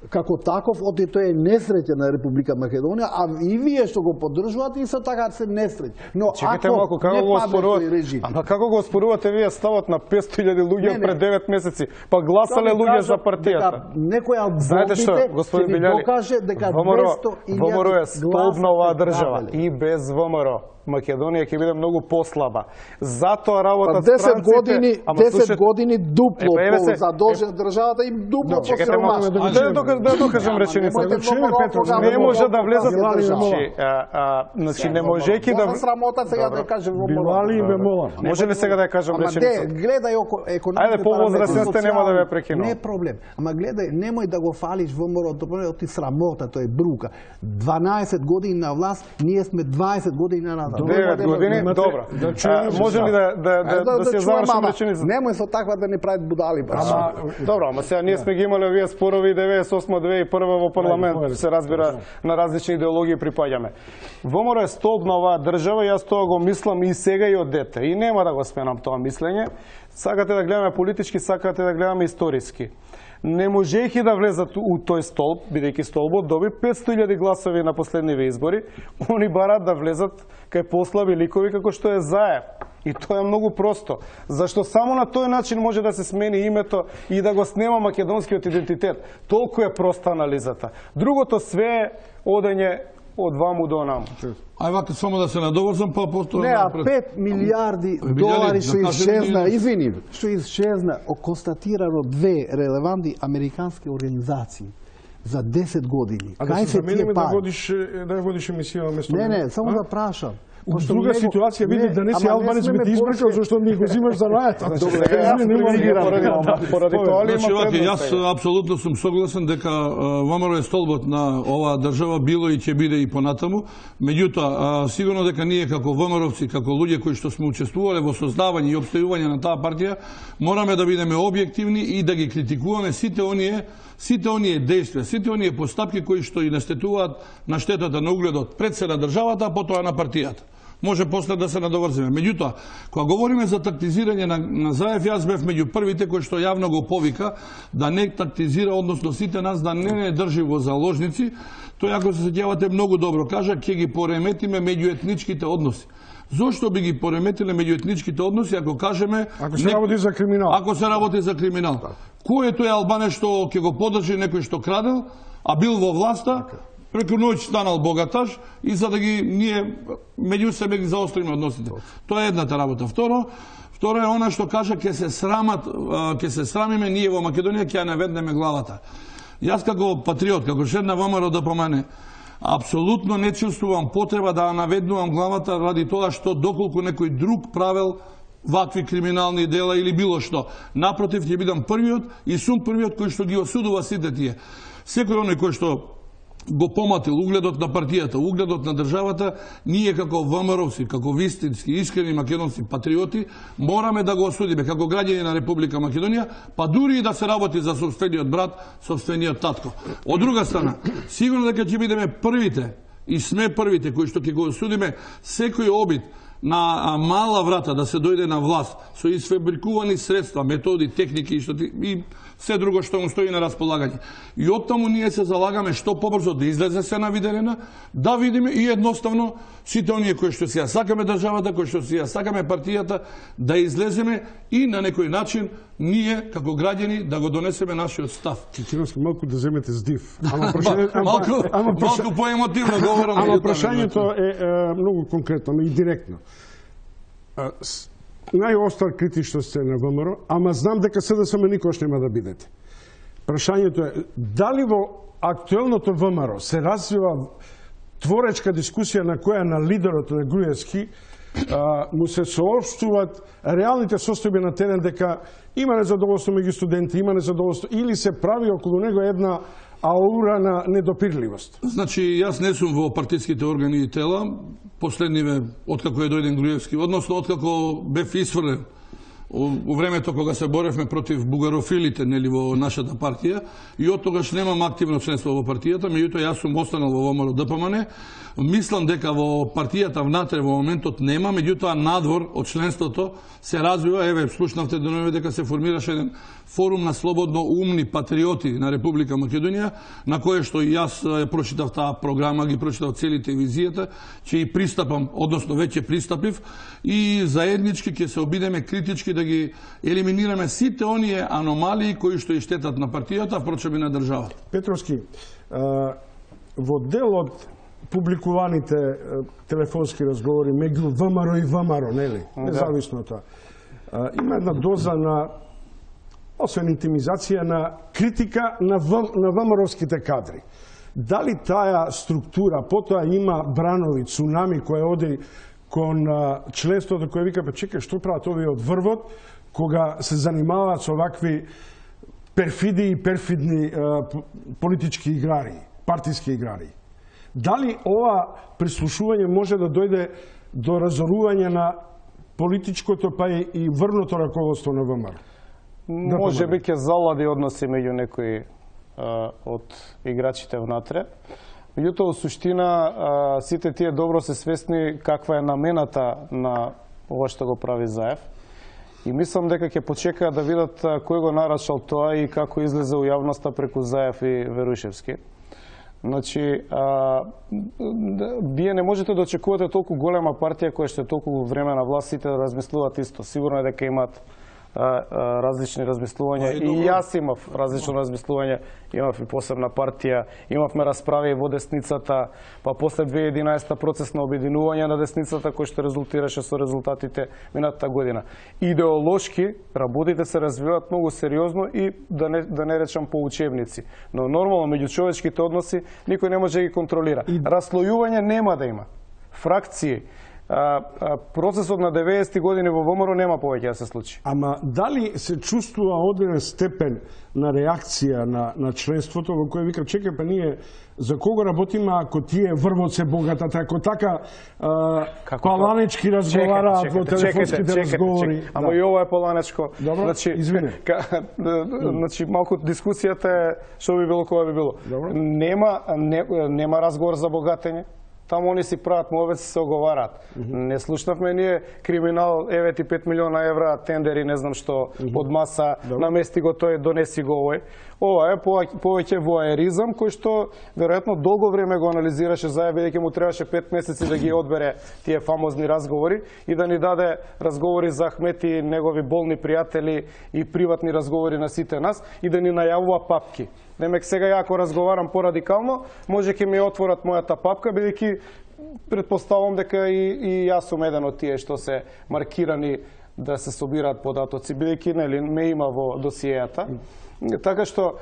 Како таков, оти тој е несреќен на Република Македонија, а и вие што го поддржувате, исто така се несреќ. Но ако не падне тој режим... Ама како го оспорувате вие ставот на 500.000 луѓе пред 9 месеци, па гласале луѓе за партијата? Некој од бомбите ќе ви докаже дека 200.000 ВМРО е столбна оваа држава и без ВМРО Македонија ќе биде многу послаба. Затоа работат странците... 10 години дупло задолжен државата и дупло посиромашна. Да докажам реченицата. Не може да влезат... Значи, не можејќи да... Срамота сега да кажем во Билали и Бемола. Може ли сега да кажам реченицата? Гледај економските... Ајде, повозрастен сте, нема да ве прекинувам. Не проблем. Ама гледај, немој да го фалиш ВМРО, ти срамота, тој е брука. 12 години на власт, ние сме 20 години на 9 години, добро. Може ли да се завршим реченицата? Немој со таква да не прават будали. Добро, ама сега ние сме ги имали овие спорови 98-2001 во парламент, се разбира, на различни идеологии припаѓаме. ВМРО е столб на оваа држава, јас тоа го мислам и сега и од дете. И нема да го сменам тоа мислење. Сакате да гледаме политички, сакате да гледаме историски. Не можејќи да влезат у тој столб, бидејќи столбот доби 500.000 гласови на последниве избори, они барат да влезат кај послаби ликови како што е Заев. И тоа е многу просто. Зашто само на тој начин може да се смени името и да го снема македонскиот идентитет. Толку е проста анализата. Другото све е одење од ваму до наму. Ај вака само да се надоврзам, па потоа... Не, 5 милиарди долари што исчезна, извини, што исчезна, констатирано 2 релевантни американски организации за 10 години. А да се замениме да водиш емисија вместо... Не, само да прашам. Во друга ситуација види да не си албанец би те избркал зашто ми го взимаш за рајата. Поради тоа ли има предност? Јас апсолутно сум согласен дека ВМРО е столбот на оваа држава, било и ќе биде и понатаму. Меѓутоа, сигурно дека ние како ВМРО-вци, како луѓе кои што сме учествувале во создавање и обстојување на таа партија, мораме да бидеме објективни и да ги критикуваме сите оние действија, сите оние постапки кои што и настетуваат на штетата на угледот пред се на државата, а потоа на партијата. Може после да се надоврзиме. Меѓутоа, кога говориме за тактизирање на Заев, јас бев меѓу првите кои што јавно го повика да не тактизира, односно сите нас да не држи во заложници. Тој, ако се сеќавате многу добро, кажа, ќе ги пореметиме меѓуетничките односи. Зошто би ги пореметиле меѓуетничките односи ако кажеме ако се работи за криминал? Ако се работи за криминал. Кој е тој албанец што ќе го подржи некој што крадел, а бил во власта, преку ноќ станал богаташ и за да ги ние меѓу себе ги заостриме односите. Тоа е едната работа. Второ е она што кажа ќе се срамиме ние во Македонија, ќе ја наведнеме главата. Јас како патриот, како член на ВМРО ДПМН, апсолутно не чувствувам потреба да наведнувам главата ради тоа што доколку некој друг правел вакви криминални дела или било што. Напротив, ќе бидам првиот и сум првиот кој што ги осудува сите тие. Секој оној кој што го поматил угледот на партијата, угледот на државата, ние како ВМРО-вци, како вистински, искрени македонски патриоти, мораме да го осудиме како граѓани на Република Македонија, па дури и да се работи за сопствениот брат, сопствениот татко. Од друга страна, сигурно дека ќе бидеме првите и сме првите кои што ќе го осудиме секој обид на мала врата да се дојде на власт со изфабрикувани средства, методи, техники и се друго што му стои на располагање. И оттаму ние се залагаме што побрзо да излезе се на виделина, да видиме и едноставно сите оние кои што си ја сакаме државата, кои што си ја сакаме партијата, да излеземе и на некој начин ние како граѓани да го донесеме нашиот став. Кикиновски, малку да земете здив. Малку поемотивно говорам. Ама прашањето е многу конкретно и директно. Најостар критичност сте на ВМРО, ама знам дека СДСМ никош нема да бидете. Прашањето е, дали во актуелното ВМРО се развива творечка дискусија на која на лидерот на Груевски му се соопштуваат реалните состојби на терен дека има незадоволство меѓу студенти, има незадоволство, или се прави околу него една аура на недопирливост? Значи, јас не сум во партиските органи и тела, последниве, откако е дојден Груевски, односно откако бев исфрлен у времето кога се боревме против бугарофилите, нели, во нашата партија, и од тогаш немам активно членство во партијата, меѓутоа јас сум останал во ВМРО ДПМН. Мислам дека во партијата внатре во моментот нема, меѓутоа надвор од членството се развива. Еве, слушнавте денове дека се формираше еден форум на слободно умни патриоти на Република Македонија, на кое што и јас прочитав таа програма, ги прочитав целите визијата, че и пристапам, односно веќе пристапив, и заеднички ќе се обидеме критички да ги елиминираме сите оние аномалии кои што и штетат на партијата, впрочем и на државата. Петровски, во дел од публикуваните телефонски разговори меѓу ВМРО и ВМРО, нели? Независно тоа. Има една доза на, освен интимизација, на критика на ВМРО-ските кадри. Дали таа структура потоа има бранови, цунами кој оди кон членството кој вика, па чекај, што прават овие од врвот, кога се занимаваат со вакви перфиди и перфидни политички играри, партиски играри? Дали ова прислушување може да дојде до разорување на политичкото па и врвното раководство на ВМРО? Може би ќе залади односи меѓу некои од играчите внатре. Меѓутоа, во суштина, сите тие добро се свесни каква е намената на ова што го прави Заев. И мислам дека ќе почекаат да видат кој го нарачал тоа и како излезе у јавноста преку Заев и Верушевски. Значи, вие не можете да очекувате толку голема партија која што е толку време на власт, сите да размислуваат исто. Сигурно е дека имаат различни размислувања. И јас имав различно размислување, имав и посебна партија, имавме расправи во десницата, па после 2011 процес на обединување на десницата кој што резултираше со резултатите минатата година. Идеолошки работите се развиваат многу сериозно и да не речам по учебници. Но нормално меѓучовечките односи никој не може да ги контролира. Раслојување нема да има. Фракции, процесот на 90-ти години во ВМРО нема повеќе да се случи. Ама дали се чувствува одреден степен на реакција на членството во кој вика, чекај, па ние за кого работиме ако тие врвот се богатат, ако така паланечки разговараат во телефонските разговори? Ама и ова е паланечко. Добро, извини. Значи, малку дискусијата е што би било, кога би било. Нема разговор за богатење. Таму они си прават мовеци, се оговараат. Не слушнавме ние криминал, еве ти 5 милиона евра тендери, не знам што, од маса, намести го тој, донеси го овој. Ова е повеќе воаеризам, кој што веројатно долго време го анализираше Заев, бидејќи му требаше 5 месеци да ги одбере тие фамозни разговори и да ни даде разговори за Ахмети, негови болни пријатели и приватни разговори на сите нас и да ни најавува папки. Демек сега ја ако разговарам порадикално, може ќе ми отворат мојата папка, бидејќи претпоставувам дека и јас сум еден од тие што се маркирани да се собираат податоци, бидејќи нели ме има во досиејата. Така што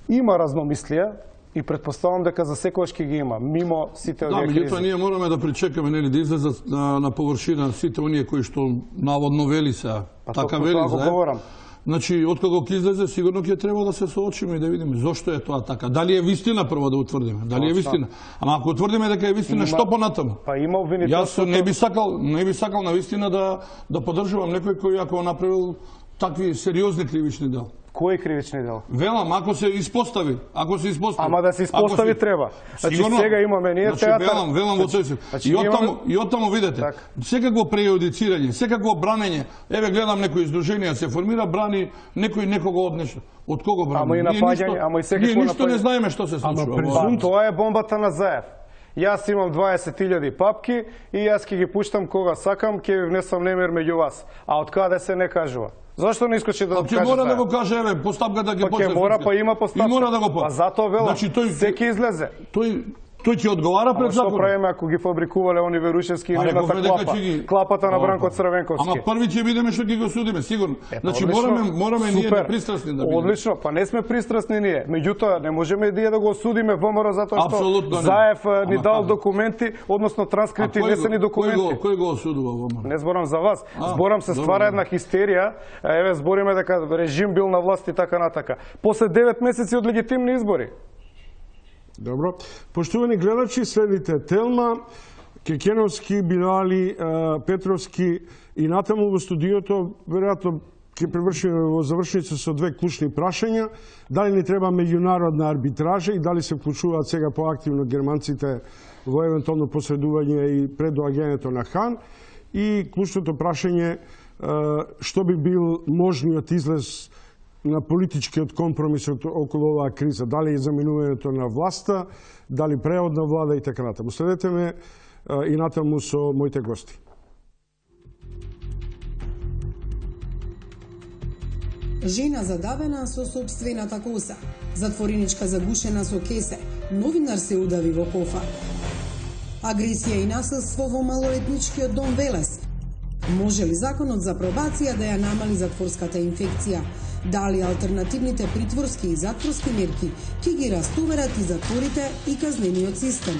има разномислија и претпоставувам дека за секојаш ќе ги има, мимо сите овие кризи. Меѓутоа ние мораме да причекаме нели да излезат на површина сите оние кои што наводно вели се, така вели за. Значи, откако ќе излезе, сигурно ќе треба да се соочиме и да видиме зошто е тоа така. Дали е вистина прво да утврдиме? Дали е вистина? Ама ако утврдиме дека е вистина, што понатаму? Па има обвинителството. Јас не би сакал на вистина да поддржувам некој кој ако направил такви сериозни кривични дела. Кои кривични дела? Велам, ако се испостави. Ама да се испостави треба. Значи сега имаме ние театар. Велам во тој. И оттаму видете. Секако прејудицирање, секако бранење. Еве гледам некои издруженија се формира, брани некој некого од нешто. Од кого брани? Ама и напаѓање, ама и секако напаѓање. Ние ништо не знаеме што се случува. Тоа е бомбата на Заев. Јас имам 20.000 папки и јас ќе ги пуштам кога сакам, ќе ви внесам немир меѓу вас. А од каде се не кажува? Зашто не искаше да каже? Ќе мора да го каже, еве, постапка да ги почне. Ќе мора, па има постапка. И мора да го почне. А затоа велам, секи излезе. Тој ќе одговара пред законот. Што правиме ако ги фабрикувале они Верушевски и неговата клапа? Клапата на Бранко Црвенковски. Ама први ќе видиме што ќе го судиме, сигурно. Значи мораме ние да пристрасни да бидеме. Одлично, па не сме пристрасни ние. Меѓутоа не можеме да го осудиме ВМРО затоа што Заев ни дал документи, односно транскрипти, внесени документи. Кој го осудува ВМРО? Не зборам за вас. Зборам се ствара една хистерија. Еве збориме дека режим бил на власт и така натака. После 9 месеци од легитимни избори. Добро. Поштувани гледачи, следите Телма, Кекеновски, Бинали, Петровски и натаму во студиото, веројатно ќе превршиме во завршница со две клучни прашања. Дали ни треба меѓународна арбитража и дали се вклучуваат сега поактивно германците во евентуално посредување и предоаѓањето на Хан. И клучното прашање, што би бил можниот излез на политичкиот компромис околу оваа криза, дали е заминувањето на власта, дали преод на влада и така натаму. Следете ме и натаму со моите гости. Жена задавена со собствената коса, затвореничка загушена со кесе, новинар се удави во кофа. Агресија и насилство во малолетничкиот дом Велес. Може ли законот за пробација да ја намали затворската инфекција? Дали алтернативните притворски и затворски мерки ќе ги растоварат и затворите и казнениот систем?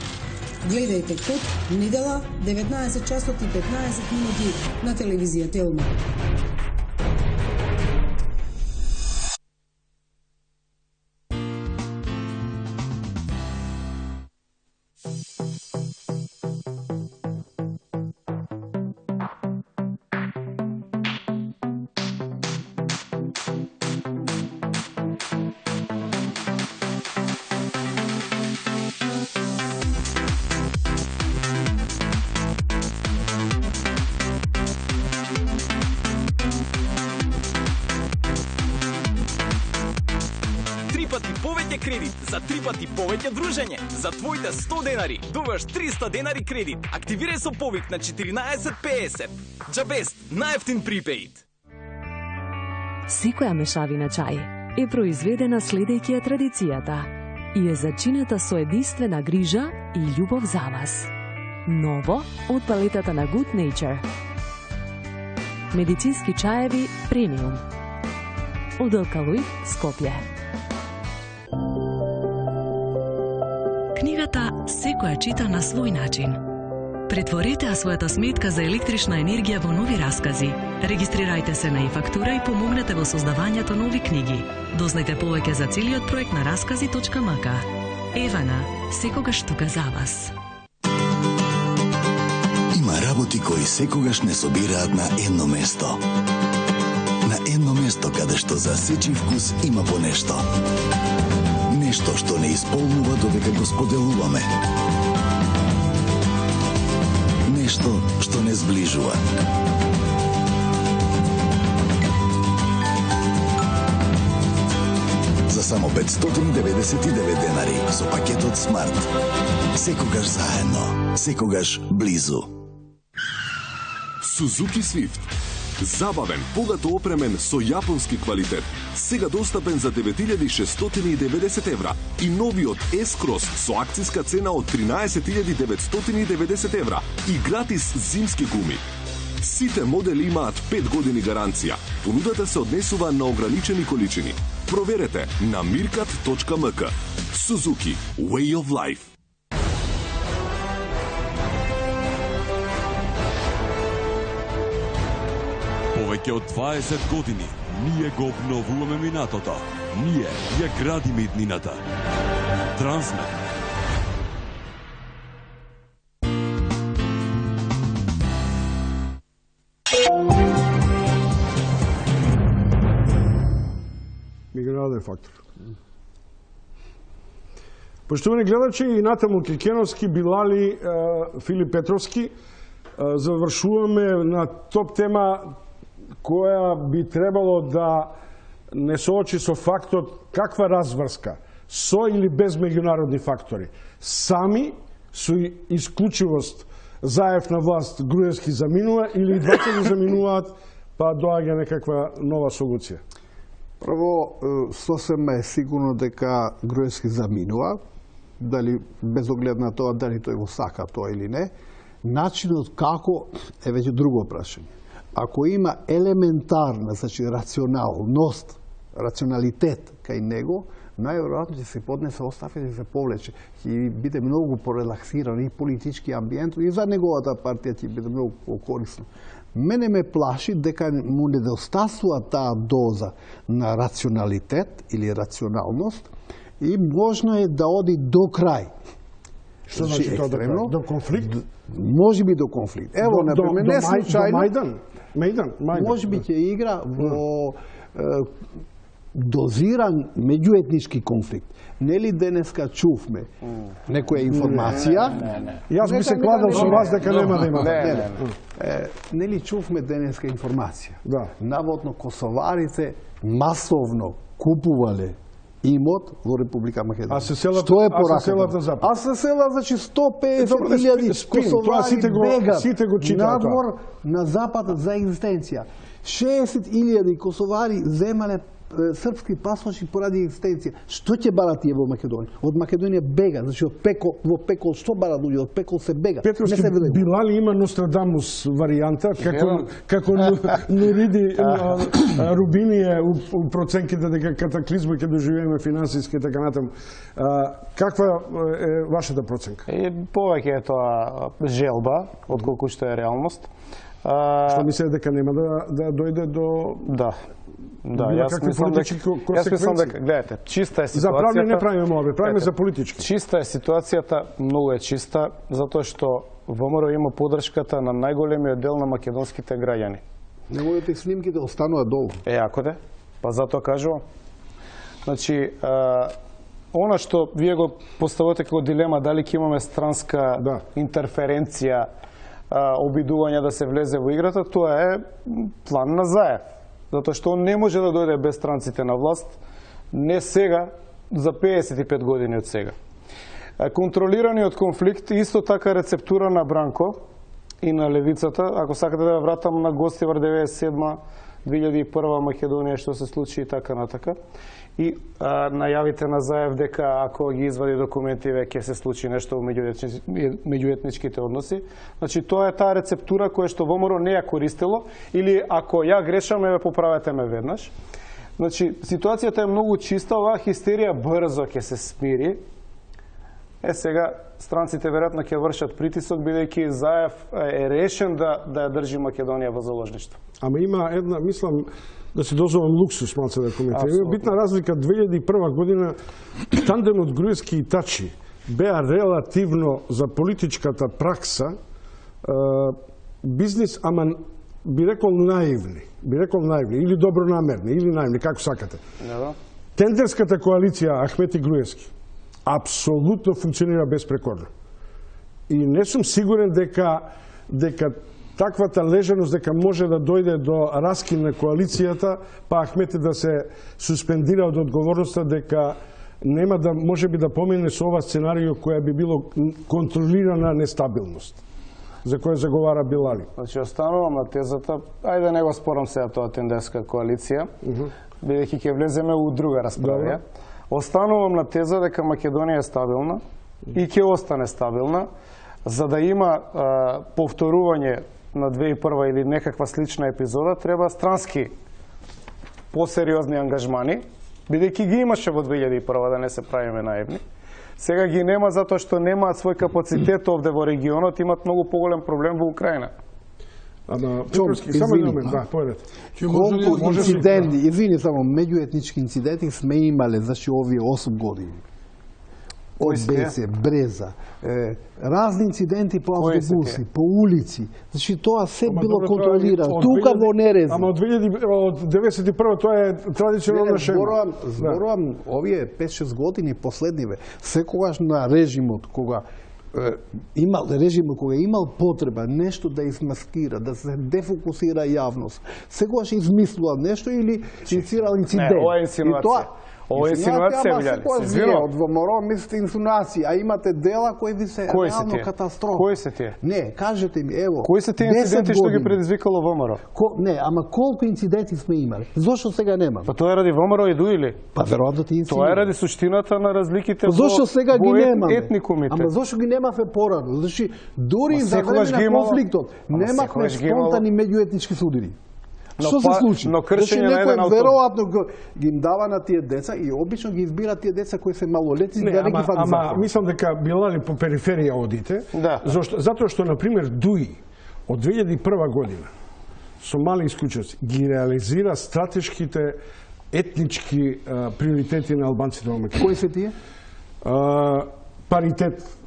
Гледајте Код, недела, 19 часот и 15 минути на телевизија Телма. Кредит за 3 пати повеќе дружење. За твоите 100 денари добиваш 300 денари кредит. Активирај со повик на 1450. Джабест, најефтин припеид. Секоја мешавина чај е произведена следејќи ја традицијата и е зачината со единствена грижа и љубов за вас. Ново од палетата на Good Nature. Медицински чаеви премиум. Од Алкалоид, Скопје. Книгата секоја чита на свој начин. Претворете својата сметка за електрична енергија во нови раскази. Регистрирајте се на e-фактура и помогнете во создавањето нови книги. Дознајте повеќе за целиот проект на раскази.мк. Евана, секогаш тука за вас. Има работи кои секогаш не собираат на едно место. На едно место каде што за сечи вкус има по нешто. Нешто што не исполнува додека го споделуваме. нешто што не зближува. За само 599 денари со пакетот Смарт. Секогаш заедно, секогаш близу. Suzuki Swift. Забавен, богато опремен со јапонски квалитет. Сега достапен за 9690 евра. И новиот S-Cross со акцијска цена од 13990 евра. И гратис зимски гуми. Сите модели имаат 5 години гаранција. Понудата се однесува на ограничени количини. Проверете на mirkat.mk. Suzuki. Way of Life. Повеќе од 20 години ние го обновуваме минатото. Ние ја градиме иднината. Трансмет. Мигрален фактор. Поштовани гледачи, и Натаму Кикеновски, Билали, Филип Петровски, завршуваме на топ тема која би требало да не соочи со фактот каква разврска со или без меѓународни фактори. Сами со исклучивост Заев на власт Груевски заминува или двата ги заминуваат, па доаѓа некаква нова солуција. Прво, сосема е сигурно дека Груевски заминува, дали без оглед на тоа дали тој го сака тоа или не. Начинот како е веќе друго прашање. Ако има елементарна, значи рационалност, рационалитет кај него, најверојатно ќе се поднесе оставка и се повлече. Ќе биде многу порелаксиран и политички амбиент и за неговата партија ќе биде многу корисно. Мене ме плаши дека му недостасува таа доза на рационалитет или рационалност и можно е да оди до крај. Што значи тоа до конфликт? Може би до конфликт. Ево, например, не случајно. До Мајдан. Може би ќе игра во дозиран меѓуетнички конфликт. Нели денеска чувме некоја информација? Јас би се кладал со вас дека нема да има. Нели чувме денеска информација? Да. Наводно косоварите масовно купувале имот во Република Македонија. А се селат, што е пораката запад? А се селат, значи 150.000 косовари бегат надвор на запад за екзистенција. 60.000 косовари земале српски пасоши поради екзистенција. Што ќе барат тие во Македонија? Од Македонија бега, значи од пекол, во пекол што барат луѓе? Од пекол се бега. Петровски, Билали има Нострадамус варијанта, како Нуриди Рубини е у проценките дека катаклизма ќе доживееме финансиски и така натаму. Каква е вашата проценка? Повеќе е тоа желба, отколку што е реалност. Што мислите дека нема да дојде до... Да, јас мислам дека, гледате, чиста е ситуацијата. За правни не правиме молби, правиме за политички. Чиста е ситуацијата, многу е чиста, затоа што ВМРО има поддршката на најголемиот дел на македонските граѓани. Неговите снимките остануваат долу. Ако де, па затоа кажувам. Значи, она што вие го поставувате како дилема, дали ќе имаме странска интерференција, обидување да се влезе во играта, тоа е план на Заев. Затоа што он не може да дојде без странците на власт, не сега, за 55 години од сега. Контролираниот конфликт, исто така рецептура на Бранко и на левицата, ако сакате да вратам на Гостивар 97 2001 Македонија што се случи и така натака. И најавите на Заев дека ако ги извади документи веќе се случи нешто во меѓуетничките односи. Значи тоа е таа рецептура која што ВМРО не ја користело или ако ја грешам, ме поправете ме веднаш. Значи ситуацијата е многу чиста, оваа хистерија брзо ќе се смири. Сега странците веројатно ќе вршат притисок бидејќи Заев е решен да ја држи Македонија во заложништво. Ама има една, мислам, да се дозволам луксус малце да коментирам. Има битна разлика 2001 година тандемот Груевски и Тачи беа релативно за политичката пракса бизнис, ама би рекол наивни или добронамерни или наивни, како сакате. Тендерската коалиција Ахмети Груевски апсолутно функционира безпрекорно. И не сум сигурен дека дека таквата лежаност дека може да дојде до раскин на коалицијата, па Ахмети да се суспендира од одговорноста, дека нема да може би да помине со ова сценарио која би било контролирана нестабилност, за која заговара Билали. Значи, останувам на тезата, ајде не го спорам сега тоа тенденска коалиција, бидејќи ќе влеземе у друга расправа. Останувам на теза дека Македонија е стабилна и ќе остане стабилна, за да има повторување на 2001 или некаква слична епизода, треба странски посериозни ангажмани, бидејќи ги имаше во 2001, да не се правиме наивни. Сега ги нема затоа што немаат свој капацитет овде во регионот, имат многу поголем проблем во Украина. Само еден момент, да, појдете. Колку инциденти, извини само, меѓуетнички инциденти сме имале, значи овие 8 години. Од Бесе, Бреза, разни инциденти по автобуси, по улици. Значи тоа се било контролирано. Тука во Нереза. Ама од 1991 тоа е традиционална шема. Зборувам овие 5-6 години последниве. Секогаш на режимот кога имал потреба нешто да измаскира, да се дефокусира јавност, секогаш измислува нешто или инициирал инцидент. Не, ова е инсинуација. Ова е инсинуација, Вилјали. Се извинувам. Од ВМРО мислите инсинуации, а имате дела кои ви се реално катастрофа. Кои се тие? Не, кажете ми, ево. Кои се тие инциденти што ги предизвикало ВМРО? Не, ама колку инциденти сме имали? Зошто сега нема? Па тоа е ради ВМРО и дуили. Па веројатно ти инциденти. Тоа е ради суштината на разликите зошто сега ги немаме? Етникумите. Ама зошто ги немаве порано? Значи, дури за време на конфликтот немавме спонтани меѓуетнички судири. Што се случи? Но кршење на еден авто. Веројатно ги им дава на тие деца и обично ги избира тие деца кои се малолетни да не ги фати закон. Ама мислам дека Билали по периферија одите, затоа што на пример ДУИ од 2001 година со мали исклучоци ги реализира стратешките етнички приоритети на албанците во Македонија. Кои се тие? Паритет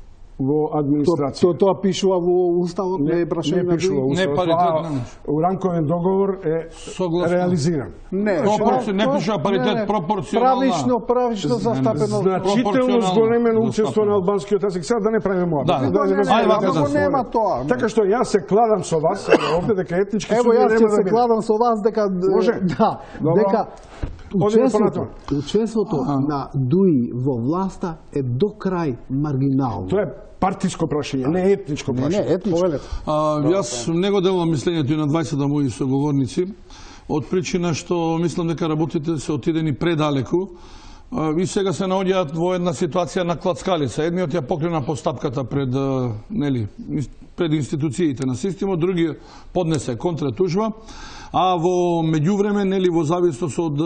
во администрација. Тоа пишува во уставот, не е прашање на пишува ДУИ? уставот. Рамковен договор е реализиран. Не пишува паритет пропорционално. Правично застапено. Значително зголемено учество на албанскиот јазик. Сега да не правиме ова. Како нема тоа? Така што јас се кладам со вас овде дека етнички судија нема да биде. Ево јас се кладам со вас дека дека учеството на ДУИ во власта е до крај маргинално. Тоа е партиско прашање, не етничко прашање. Не, етничко. Јас не го делам мислењето и на 20 мои соговорници, од причина што мислам дека работите се отидени предалеку и сега се наоѓаат во една ситуација на клацкалица. Едниот ја покрена постапката пред институциите на системот, другиот поднесе контратужба, а во меѓувреме, во зависност од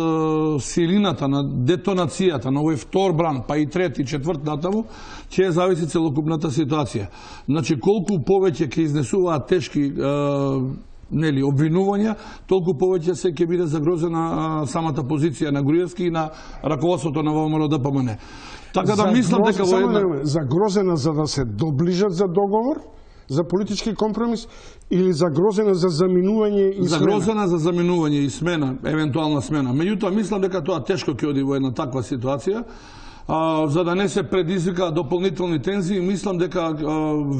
силината на детонацијата на овој втор бран, па и трети, четврт натаму, ќе зависи целокупната ситуација. Значи, колку повеќе ќе изнесуваат тешки обвинувања, толку повеќе се ќе биде загрозена самата позиција на Груевски и на раководството на ВМРО ДПМН. Така да мислам дека во една загрозена за да се доближат за договор, за политички компромис или загрозена за заминување и смена? Загрозена за заминување и смена, евентуална смена. Меѓутоа, мислам дека тоа тешко ќе оди во една таква ситуација, за да не се предизвика дополнителни тензии. Мислам дека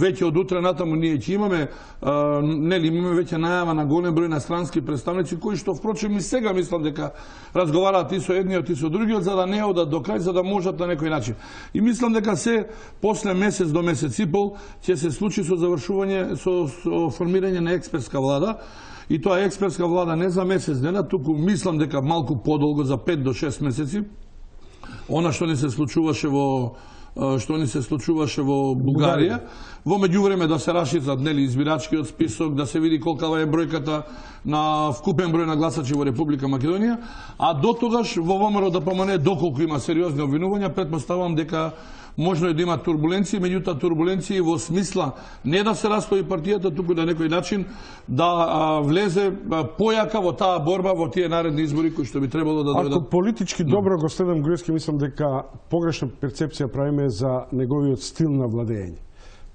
веќе од утре натаму ние ќе имаме веќе најава на голем број на странски представници, кои што впрочем и сега мислам дека разговараат и со едниот и со другиот, за да не одат до крај, за да можат на некој начин. И мислам дека се после месец до месец и пол ќе се случи со завршување, со формирање на експертска влада. И тоа експертска влада не за месец дена, туку мислам дека малку подолго, за 5 до 6 месеци. Она што ни се случуваше во Бугарија, во меѓувреме да се расшират избирачкиот список, да се види колкава е бројката на вкупен број на гласачи во Република Македонија, а до тогаш во ВМРО ДПМН доколку има сериозни обвинувања, претпоставувам дека можно е да има турбуленции, меѓутоа турбуленции во смисла не да се растои партијата, туку на некој начин да влезе појака во таа борба во тие наредни избори кои што би требало да дојдат. Ако политички добро го следам Груевски, мислам дека погрешна перцепција правиме за неговиот стил на владење.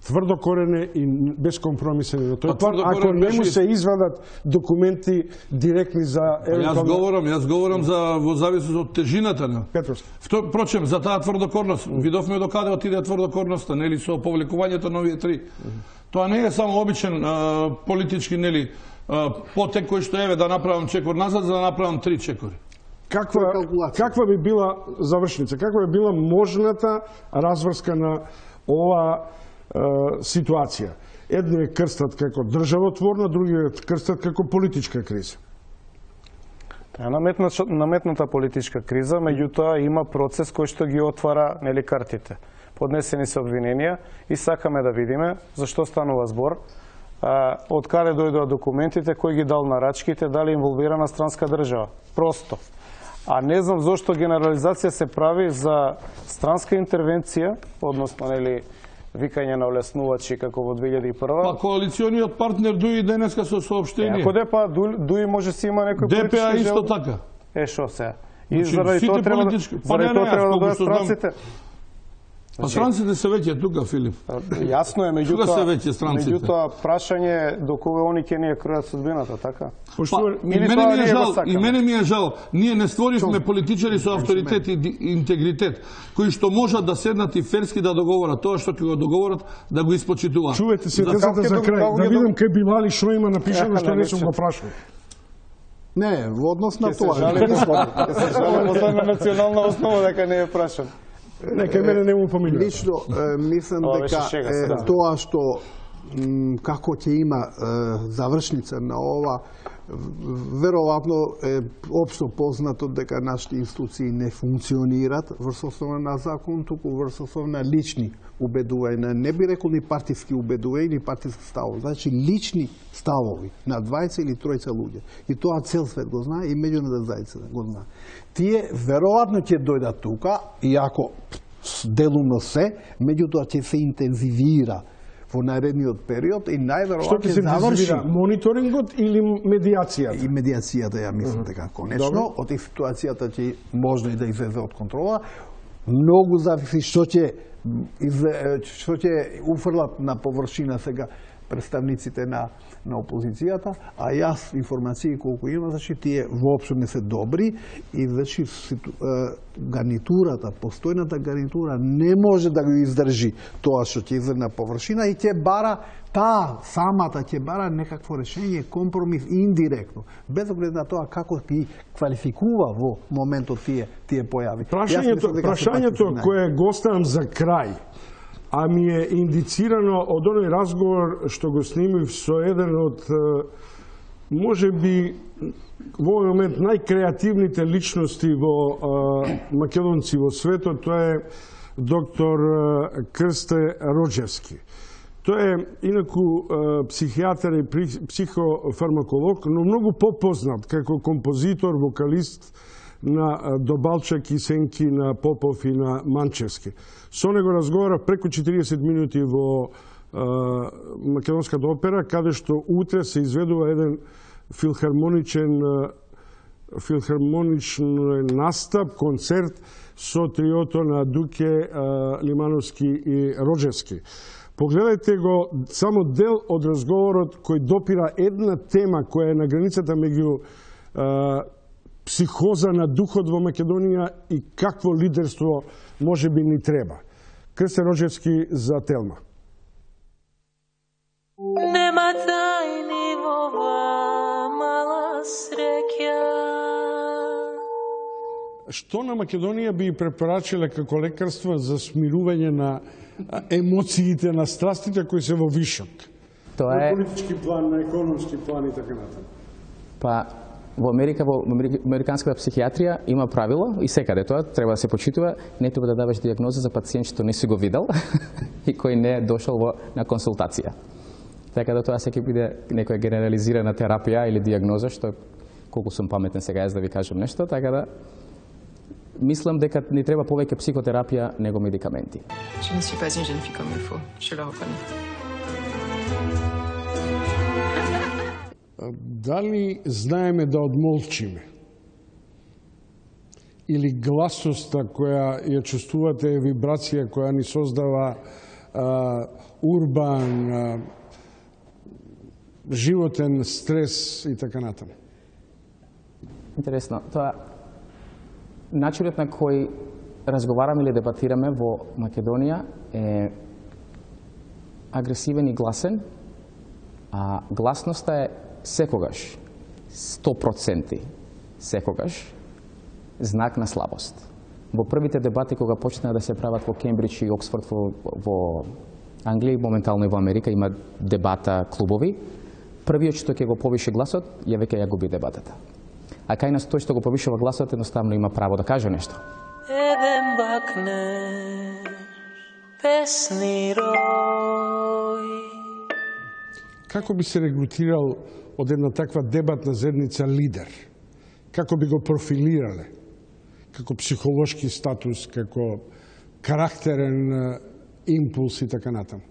Тврдо корене и безкомпромисен на тој план, ако не му се извадат документи директни за Јас говорам за во зависност од тежината на Петровски. Впрочем, за таа тврдокорност, видовме до каде отиде тврдокорноста, нели со повлекувањето на овие три. Тоа не е само обичен политички, нели, потек кој што еве да направам чекор назад за да направам 3 чекори. Каква би била завршница, каква би била можната разврска на ова ситуација? Едни крстат како државотворна, другиот крстат како политичка криза. Таа е наметната политичка криза, меѓутоа има процес кој што ги отвара, нели, картите. Поднесени се обвиненија и сакаме да видиме зашто станува збор, од каде дојдоа документите, кој ги дал нарачките, дали инволвирана странска држава. Просто. А не знам зошто генерализација се прави за странска интервенција, односно, нели, викање на олеснувачи како во 2001. Па коалициониот партнер Дуи денеска со соопштение. Ако па Дуи може си има некој политички ДПА исто така. Шо се? И заради тоа треба да дојдат странците. Па странците се веќе тука, Филип. Јасно е, меѓутоа прашање до кога они ќе ни ја кројат судбината, така? И мене ми е жал, ние не створивме политичари со авторитет и интегритет, кои што можат да седнат и ферски да договорат тоа што ќе го договорат, да го испочитуваат. Чувате се тезата за крај, да видам кај Билали што има напишано што не сум го прашал. Не, во однос на тоа. Ќе се жали на национална основа дека не е прашан. Нека мене не му помилува. Лично мислам дека тоа што како ќе има завршница на ова, веројатно е општо познато дека нашите институции не функционират врз основа на закон, туку врз основа на лични убедувања. Не би рекол ни партиски убедувања, ни партиски ставови. Значи лични ставови на 20 или 30 луѓе. И тоа цел свет го знае и меѓународната заедница го знае. Тие веројатно ќе дојдат тука, иако делумно се, меѓутоа ќе се интензивира во наредниот период и најверојатно ќе заврши мониторингот или медијацијата. И медијацијата, ја мислам дека конечно, од ситуацијата ќе можно и да излезе од контрола. Многу зависи што ќе уфрлат на површина сега представниците на опозицијата, а јас информации колку има, значи тие воопшто не се добри и значи гарнитурата, постојната гарнитура не може да го издржи тоа што ќе излезе на површина и ќе бара самата ќе бара некакво решение, компромис индиректно, без оглед на тоа како ги квалификува во моментот тие појави. Прашањето кое го оставам за крај, а ми е индицирано од оној разговор што го снимив со еден од, може би, во овој момент најкреативните личности во македонци во светот, тоа е доктор Крсте Роџевски. Тој е, инаку, психијатар и психофармаколог, но многу попознат како композитор, вокалист на Добалчак и сенки на Попов и на Манчевски. Со него разговарав преку 40 минути во Македонската опера, каде што утре се изведува еден филхармоничен настап, концерт со триото на Дуке, Лимановски и Роџевски. Погледајте го само дел од разговорот кој допира една тема која е на границата меѓу психоза на духот во Македонија и какво лидерство може би ни треба. Крсте Роџевски за Телма. Нема тајни во ова мала среќа. Што на Македонија би препорачиле како лекарство за смирување на емоциите, на страстите кои се во вишок? Тоа е на политички план, на економски план и така натаму. Па во Америка, во американската психијатрија има правило и секаде тоа треба да се почитува, не треба да даваш дијагноза за пациент што не си го видел и кој не е дошол на консултација. Така да тоа се ќе биде некоја генерализирана терапија или дијагноза, што колку сум паметен сега јас да ви кажам нешто, така да мислам дека ни треба повеќе психотерапија него медикаменти. Je ne suis pas une jeune fille comme il faut, je le reconnais. Дали знаеме да одмолчиме? Или гласоста која ја чувствувате е вибрација која ни создава урбан, животен стрес и така натаму? Интересно. Тоа начинот на кој разговараме или дебатираме во Македонија е агресивен и гласен, а гласноста е секогаш, 100% секогаш, знак на слабост. Во првите дебати кога почнаа да се прават во Кембридж и Оксфорд во Англија и моментално и во Америка има дебата клубови, првиот што ќе го повише гласот, ја веќе ја губи дебатата. А кај нас тој што го повишува гласот едноставно има право да каже нешто. Еден бакнеш, песни рој. Како би се регрутирал од една таква дебатна заедница лидер? Како би го профилирале? Како психолошки статус, како карактерен импулс и така натаму?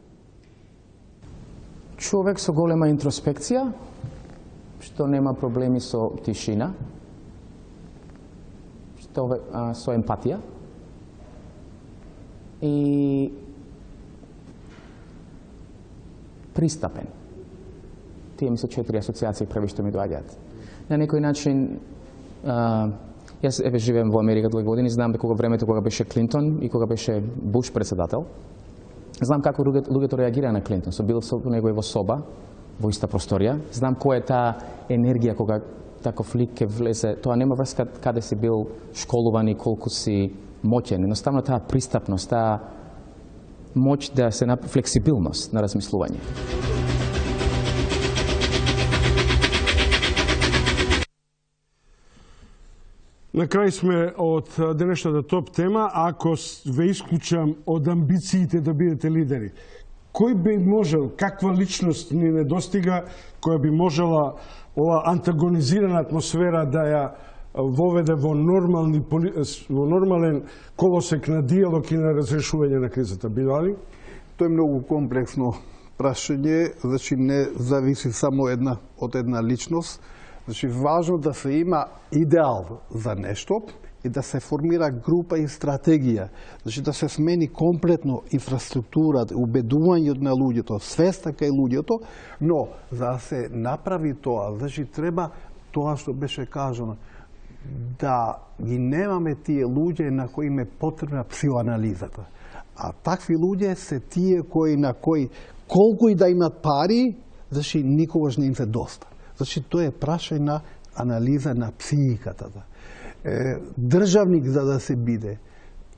Човек со голема интроспекција, што нема проблеми со тишина, со емпатија и пристапен. Тие ми се 4 асоциации први што ми доаѓаат. На некој начин, јас живеем во Америка 2 години, знам дека времето кога беше Клинтон и кога беше Буш председател, знам како луѓето реагираа на Клинтон. Бил со него и во соба, во иста просторија. Знам која е таа енергија кога таков лик ке влезе. Тоа нема врска каде си бил школуван и колку си моќен. Едноставно таа пристапност, таа моќ да се направи флексибилност на размислување. На крај сме од денешната топ тема. Ако ве исклучам од амбициите да бидете лидери, кој би можел, каква личност ни недостига, која би можела ова антагонизирана атмосфера да ја воведе во нормален колосек на диалог и на разрешување на кризата? Бидали? Тоа е многу комплексно прашање, значи не зависи само од една личност. Значи, важно да се има идеал за нешто и да се формира група и стратегија. Значи, да се смени комплетно инфраструктурата, убедувањето на луѓето, свеста кај луѓето, но за да се направи тоа, значи, треба тоа што беше кажано, да ги немаме тие луѓе на кои им е потребна психоанализата. А такви луѓе се тие на кои колку и да имат пари, значи, никогаш не им се доста. Значи, тоа е прашање на анализа на психиката. Државник за да се биде,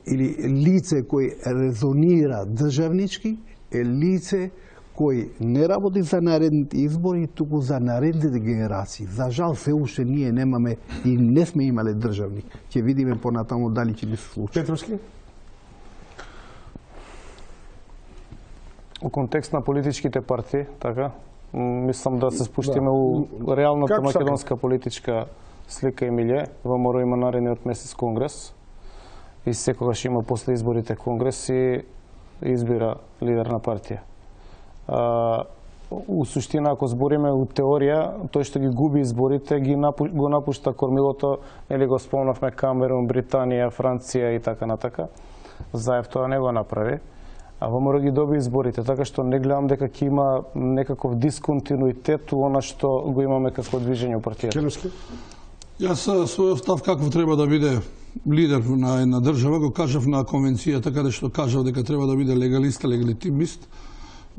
или лице кој резонира државнички, е лице кој не работи за наредните избори, туку за наредните генерации. За жал, се уште ние немаме и не сме имале државник. Ќе видиме понатаму дали ќе ни се случи. Петровски? У контекст на политичките партии, така, мислам да се спуштиме у реалната македонска политичка слика и милје. ВМРО има наредниот месец конгрес и секогаш има после изборите конгрес и избира лидер на партија. У суштина, ако збориме у теорија, тој што ги губи изборите, го напушта кормилото, или го спомнавме Камерун, Британија, Франција и така натака. Заев тоа не го направи. А ВМРО ги доби изборите, така што не гледам дека ќе има некаков дисконтинуитет у она што го имаме како движење у партијата. Јас својот став каков треба да биде лидер на една држава го кажав на конвенцијата, каде што кажав дека треба да биде легалист, легитимист.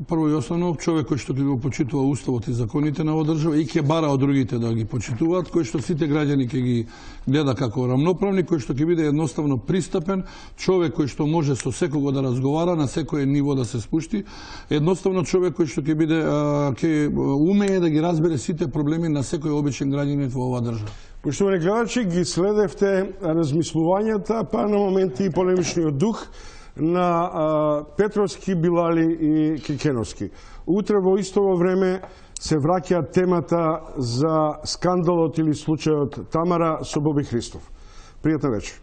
Прво и основно, човек кој што ќе го почитува уставот и законите на оваа држава и ќе бара од другите да ги почитуваат, кој што сите граѓани ќе ги гледа како рамноправни, кој што ќе биде едноставно пристапен, човек кој што може со секого да разговара, на секој ниво да се спушти, едноставно човек кој што ќе биде ќе умее да ги разбере сите проблеми на секој обичен граѓанин во оваа држава. Поштовани гледачи, ги следевте размислувањата, па на моменти и полемичниот дух на Петровски, Билали и Кекеновски. Утре во истово време се враќа темата за скандалот или случајот Тамара со Боби Христов. Пријатна вечер.